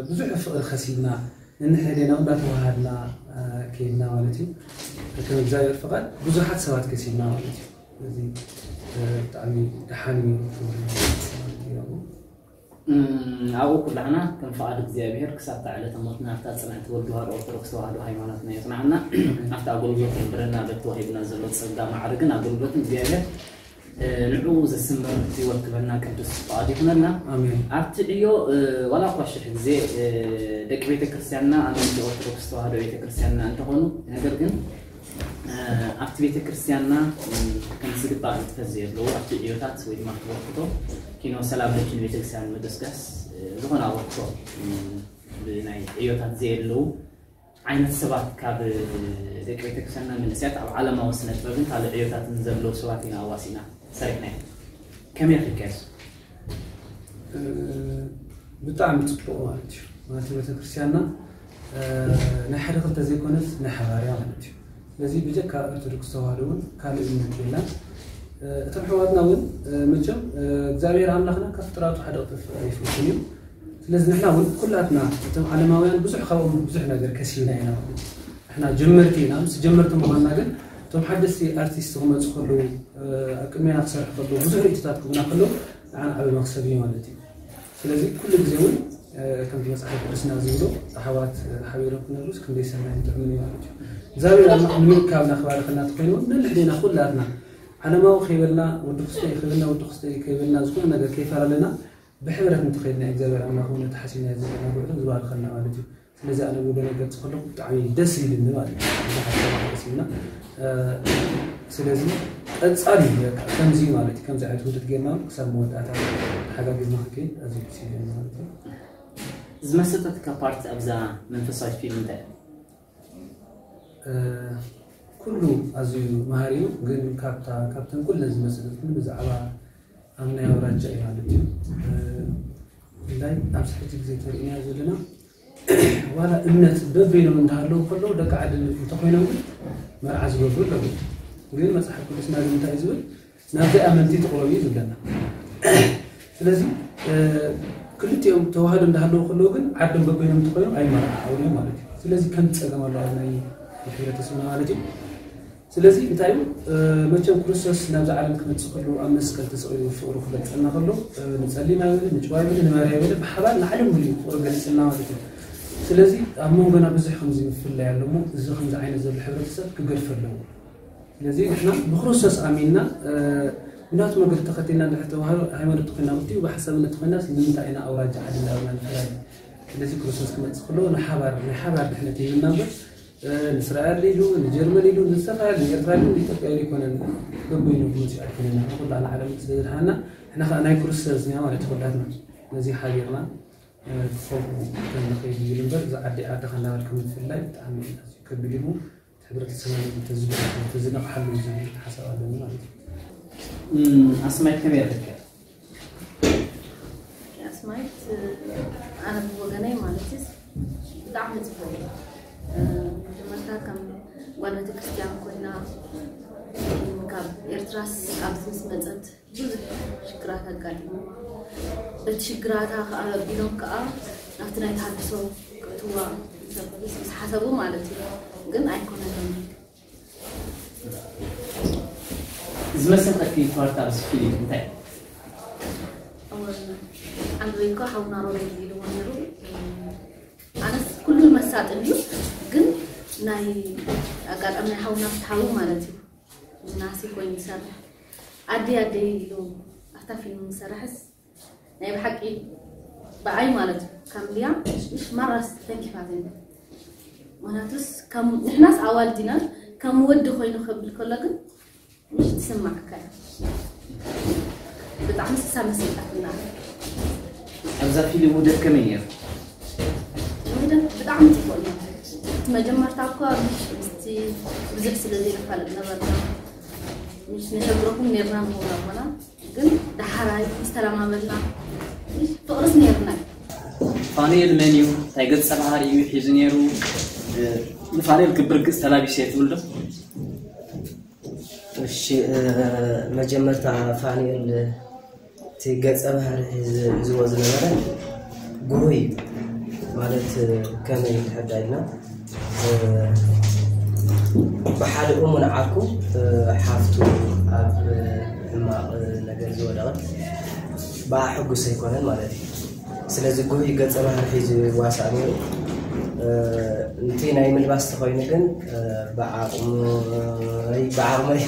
ብዙሕ ፍቕሪ ከሲብና ነንሕድሕዴና እውን እንዳተዋሃድና ከይድና ማለት እዩ። ከም እግዚኣብሔር ፍቓድ ብዙሓት ሰባት ከሲብና ማለት እዩ። ስለዚ ብጣዕሚ ደሓን እዩ ክብል ማለት እዩ። ኣብኡ ኩላህና ከም ፍቓድ እግዚኣብሔር ክሳብ እታ ዕለተ ሞትና ኣብታ ጽንዕቲ ወልድ ተዋህዶ ኦርቶዶክስ ተዋህዶ ሃይማኖትና የጽንዓና። ኣብቲ ኣገልግሎት የንብረና በቲ ወሂብና ዘሎ ጸጋ ማዕርግን ኣገልግሎትን እግዚኣብሔር ንዕኡ ዘስምር ህይወት ክበና ቅዱስ ፍቓድ ይኹነልና። ኣብቲ ዕዮ ዋላ እኳ ሽሕ ግዜ ደቂ ቤተ ክርስቲያንና ኣመንቲ ኦርቶዶክስ ተዋህዶ ቤተ ክርስቲያንና እንተኾኑ፣ ነገር ግን ኣብቲ ቤተ ክርስቲያንና ከም ዝግባእ ንጥፈት ዘየለዉ ኣብቲ ዕዮታት ወይ ድማ ኣብቲ በርክቶ ኪኖ ሰላም ለኪን ቤተ ክርስቲያን ምድስጋስ ዝኾነ ኣበርክቶ ብናይ ዕዮታት ዘየለዉ ዓይነት ሰባት ካብ ደቂ ቤተ ክርስቲያንና መንእሰያት ኣብ ዓለማዊ ስነ ጥበብን ካልእ ዕዮታትን ዘለዉ ሰባት ኢና ኣዋሲና ሰሪሕና ኢና። ከመይ ርኢካዮ? ብጣዕሚ ፅቡቕ ማለት እዩ። ማለት ቤተክርስትያንና ናይ ሓደ ክልተ ዘይኮነት ናይ ሓባር እያ ማለት እዩ። ስለዚ ብጀካ ኦርቶዶክስ ተዋህዶ እውን ካልእ እምነት የላን። እቶም ኣሕዋትና እውን መቸም እግዚኣብሔር ኣምላኽና ካብ ፍጥራቱ ሓደ ቅጥፍ ኣይፍትን እዩ። ስለዚ ንሕና እውን ኩላትና እቶም ዓለማውያን ብዙሕ ካብኦም ብዙሕ ነገር ከሲብና ኢና ማለት እዩ። ንሕና ጀመርቲ ኢና። ምስ ጀመርቲ ምዃንና ግን እቶም ሓደስቲ ኣርቲስት ክመፁ ከለዉ ኣብ ቅድሜና ክሰርሑ ከለዉ ብዙሕ ርእይቶታት ክህቡና ከለዉ ንዓና ዓቢ መኽሰብ እዩ ማለት እዩ። ስለዚ ኩሉ ግዜ እውን ከምቲ መፅሓፍ ቅዱስና ዝብሎ ኣሕዋት ሓቢሮም ክነብሩስ ክንደይ ሰናይን ጥዑምን እዩ ማለት እዩ። እግዚኣብሔር ኣምላኽ ንምእካብና ክባርኸና ተኮይኑ እውን ነንሕድና ኩላትና ዓለማዊ ከይበልና ወዲ ክስተ እዩ ከይበልና ወዲ ክስተ እዩ ከይበልና ዝኾነ ነገር ከይፈላለና ብሕብረት እንተኸይድና እግዚኣብሔር ኣምላኽ እውን ነቲ ሓሲብናዮ ዘለና ጉዕዞ ዝባርኸና ማለት እዩ። ስለዚ ኣነ ብወገነይ ክገልፅ ከለኹ ብጣዕሚ ደስ ኢልኒ ማለት እዩ። ብዙሓት ሰባት ደስ ኢልና። ስለዚ ቀፃሊ እዩ በቃ ከምዚ ማለት እዩ። ከምዚ ዓይነት ውህደት ጌርና እውን ክሳብ መወዳእታ ተሓጋጊዝና ክንከይድ ኣዝዩ ደስ ኢልኒ ማለት እዩ። ዝመሰጠትካ ፓርት ኣብዛ መንፈሳዊት ፊልም እንታይ እዩ? ኩሉ ኣዝዩ መሃሪ እዩ። ግን ካብታ ካብተን ኩለን ዝመሰጠትኒ ብዛዕባ ኣብ ናይ ኣውራጃ እዩ ማለት እዩ። እንታይ ኣብዚ ሕጂ ግዜ ተርእና ዘለና ዋላ እምነት በበይኖም እንዳሃለዉ ከለዉ ደቂ ዓዲ እንተኮይኖም ግን መርዓ ዝገብሩ ኣለዉ። ግን መፅሓፍ ቅዱስና ግን እንታይ እዩ ዝብል? ናብዘይ ኣመንቲ ትቕረቡ እዩ ዝብለና። ስለዚ ክልቲኦም ተዋህዶ እንዳሃለዉ ከለዉ ግን ዓዶም በበይኖም እንተኮይኖም ኣይመርዓዓውን እዮም ማለት እዩ። ስለዚ ከም ፀገም ኣለዋ ናይ ሕብረተሰብና ማለት እዩ። ስለዚ እንታይ እዩ መቸም ክርስቶስ ናብዚ ዓለም ክመፅእ ከሎ ኣብ መስቀል ተሰቒሉ ፍቕሩ ክገልፀልና ከሎ ንፀሊም ኣይበለ ንጭዋ ኣይበለ ንመርያ ኣይበለ ብሓባር ንዓለም ሙሉ ፍቕሩ ገሊፅልና ማለት እዩ። ስለዚ ኣብ መንጎና ብዙሕ ከምዚ ምፍላይ ኣሎ እሞ እዚ ከምዚ ዓይነት ዘሎ ሕብረተሰብ ክገድፍ ኣለዎ። ስለዚ ንሕና ብክርስቶስ ኣሚንና ብናቱ መገዲ ተኸቲልና እንድሕር ተዋህዶ ሃይማኖት ተኮይና ብትኡ ብሓሳብነት ተኮይናስ ንምንታይ ኢና ኣውራጃ ዓዲ እንዳበልና ንፍላይ? ስለዚ ክርስቶስ ክመፅእ ከሎ ንሓባር ናይ ሓባር ድሕነት ይህብና እምበር ንእስራኤል ኢሉ ንጀርመን ኢሉ ንዝተፈላለዩ ንኤርትራ ኢሉ ንኢትዮጵያ ኢሉ ይኮነን። በበይኑ ክመፅእ ኣይኮነን። ንሕና ኩላና ዓለም ስለ ዝድሓና ንሕና ከዓ ናይ ክርስቶስ ኢና ማለት ኩላትና ነዚ ሓቢርና ክኸብሩ ከንኽእል ይብል እምበር እዚ ዓዲ ዓድኻ እንዳበልካ ምፍላይ ብጣዕሚ ከቢድ እዩ። ሕብረተሰብና ተዝነቕሓሉ ዝብል ሓሳብ ኣለኒ ማለት እዩ። ኣስማይት ከመይ ረኺብካ? ኣስማይት ኣነ ብወገነይ ማለት እዩ ብጣዕሚ ፅቡቅ እዩ። መጀመርታ ከም ጓል ቤተክርስትያን ኮይና ካብ ኤርትራስ ኣብዚ ምስ መፀት ብዙሕ ሽግራት ኣጋጢምዋ። በቲ ሽግራታ ከዓ ኣቢሎም ከዓ ናብቲ ናይ ተሃድሶ ክእትዋ ምስ ሓሰቡ ማለት እዩ። ግን ኣይኮነሎምን። ዝመሰጠኪ ፓርት ኣብዚ ፊልም እንታይ? ኣወል ዓንድሬ እኮ ሓውና ሮቤል ኢልዎ ነይሩ። ኣነስ ኩሉ መሳጥን እዩ ግን ናይ ኣጋጣሚ ናይ ሓውና ፍትሓዊ ማለት እዩ። ምናሴ ኮይኑ ይሰርሕ ኣደይ ኣደይ ኢሉ ኣብታ ፊልም ዝሰርሕስ ናይ ብሓቂ ብኣይ ማለት እዩ ከም ድያ ምሽ ማራስ ተንኪፋት እዩ። ምክንያቱስ ከም ንሕናስ ኣዋልድ ኢና ከም ወዲ ኮይኑ ከብል ከሎ ግን ምሽ ትስማዕካ እያ። ብጣዕሚ ስሳ መሲጣትና። ኣብዛ ፊልም ውህደት ከመይ ነይሩ? ውህደት ብጣዕሚ ፅቡቅ እዩ። እቲ መጀመርታ እኳ ምስቲ ብዙሕ ስለ ዘይንፋለጥ ነበርና። ምስ ነሸግረኩም ነርና ንኸውን ኣቦና ግን ደሓራይ ምስ ተለማመድና ፍቅርስ ነርና እዩ። ፋኑኤል መን እዩ? እንታይ ገጸ ባህሪ እዩ ሒዙ ነይሩ? ንፋኑኤል ክብር ገጽ ተላቢሰ እየ ትብል ዶ? እሺ መጀመርታ ፋኑኤል እቲ ገጸ ባህሪ ሒዝዎ ዝነበረ ጉሁይ ማለት ከመይ ንሕዳ ኢልና ብሓደ እሙን ዓርኩ ሓፍቱ ኣብ ሕማቕ ነገር ዝወደቐት ብኣ ሕጉስ ኣይኮነን ማለት እዩ። ስለዚ ጉሁይ ገጸ ባህሪ ሒዙ ይዋሳእ ነይሩ። እቲ ናይ ምልባስ ተኾይኑ ግን ብዓቕመይ ብዓቕመይ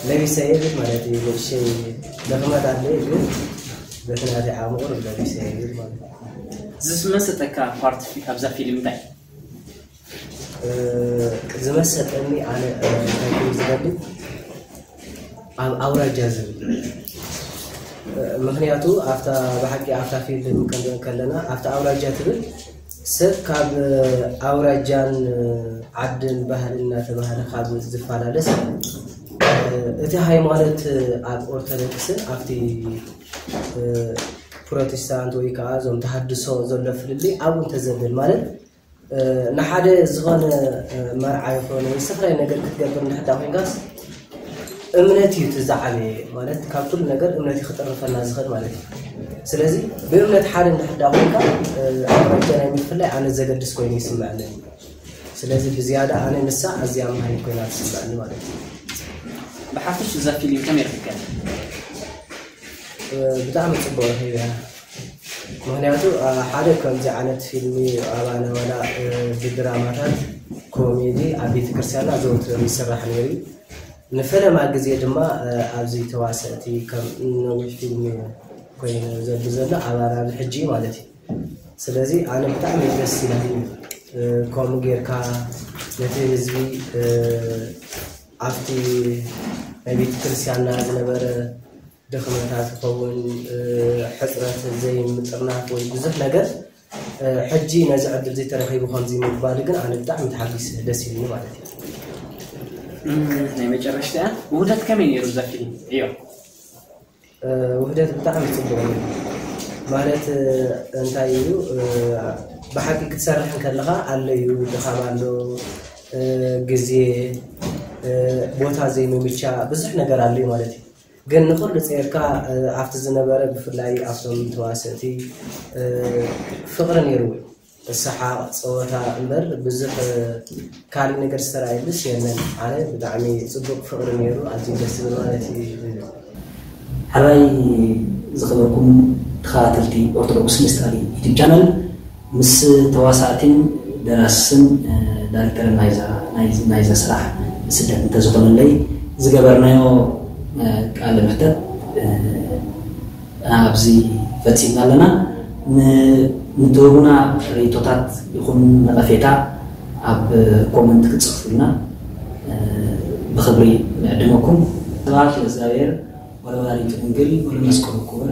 ለቢሰ የብል ማለት እዩ። ንእሸይ ደኽመት ኣለይ ግን በቲ ናተይ ዓቕሚ ቁሩብ ለቢሰ የብል ማለት እዩ። ዝመሰጠካ ፓርት ኣብዛ ፊልም እንታይ? ዝመሰጠኒ ኣነ እንታይ ክብል ዝደሊ ኣብ ኣውራጃ ዝብል ምክንያቱ ኣብታ ብሓቂ ኣብታ ፊልም ክንርኢ ከለና ኣብታ ኣውራጃ ትብል ሰብ ካብ ኣውራጃን ዓድን ባህልን እናተባህለ ካብ ዝፈላለስ እቲ ሃይማኖት ኣብ ኦርቶዶክስን ኣብቲ ፕሮቴስታንት ወይ ከዓ እዞም ተሃድሶ ዘሎ ፍልልይ ኣብኡ እንተዘብል ማለት ንሓደ ዝኾነ መርዓ ይኾን ወይ ዝተፈላለዩ ነገር ክትገብር እንድሕዳ ኮይንካስ እምነት እዩ እቲ ዝዓበየ ማለት ካብ ኩሉ ነገር እምነት እዩ ክጥርፈና ዝኽእል ማለት እዩ። ስለዚ ብእምነት ሓደ እንድሕዳ ኮይንካ ኣውራጃ ናይ ምፍላይ ኣነ ዘገድስ ኮይኑ ይስምዐኒ። ስለዚ ብዝያዳ ኣነ ንሳ ኣዝያ መሃይም ኮይና ትስምዐኒ ማለት እዩ። ብሓፈሽ እዛ ፊልም ከመይ ረኺብካ? ብጣዕሚ ፅቡቅ ረኺበያ። ምክንያቱ ሓደ ከምዚ ዓይነት ፊልሚ ኣባና ዋላ ብድራማታት ኮሜዲ ኣብ ቤተክርስትያንና ዘውትር ይስራሕ ነይሩ እዩ። ንፈለማ ግዜ ድማ ኣብዚ ተዋሰእቲ ከም ነዊሕ ፊልሚ ኮይኑ ዘሎ ዘሎ ኣባል ኣብዚ ሕጂ ማለት እዩ። ስለዚ ኣነ ብጣዕሚ ደስ ኢላኒ። ከምኡ ጌርካ ነቲ ህዝቢ ኣብቲ ናይ ቤተ ክርስቲያንና ዝነበረ ድኽመታት ይኸውን፣ ሕፅረት ዘይምጥርናፍ ወይ ብዙሕ ነገር፣ ሕጂ ነዚ ዕድል እዚ ተረኺቡ ከምዚ ምግባር ግን ኣነ ብጣዕሚ ተሓጊሰ፣ ደስ ኢሉኒ ማለት እዩ። ናይ መጨረሽታ ውህደት ከመይ ነይሩ እዛ ፊልም? እዮ ውህደት ብጣዕሚ ፅቡቅ እዩ። ማለት እንታይ እዩ፣ ብሓቂ ክትሰርሕ ከለካ ኣሎ እዩ፣ ድኻም ኣሎ፣ ግዜ፣ ቦታ ዘይምምቻ፣ ብዙሕ ነገር ኣሎ እዩ ማለት እዩ። ግን ንኩሉ ፀይርካ ኣብቲ ዝነበረ፣ ብፍላይ ኣብቶም ተዋሰእቲ ፍቅሪ ነይሩ፣ ሰሓቅ ፀወታ እምበር ብዙሕ ካልእ ነገር ዝተረኣየሉስ የለን። ኣነ ብጣዕሚ ፅቡቅ ፍቅሪ ነይሩ፣ ኣዝዩ ደስ ዝብል ማለት እዩ። ሕራይ ዝኸበርኩም ተኸታተልቲ ኦርቶዶክስ ምስጢር ዩቲብ ቻነል፣ ምስ ተዋሳእቲን ደራስን ዳይሬክተርን ናይዛ ስራሕ ስደት እንተዝኾነለይ ዝገበርናዮ ቃለ መሕተት ኣብዚ ፈፂምና ኣለና። ንትህቡና ርእቶታት ይኹን ነቐፌታ ኣብ ኮመንት ክትፅሕፉልና ብኽብሪ ንዕድመኩም። ስብሐት ለእግዚኣብሔር ወለወላዲቱ ድንግል ወለመስቀሉ ክቡር።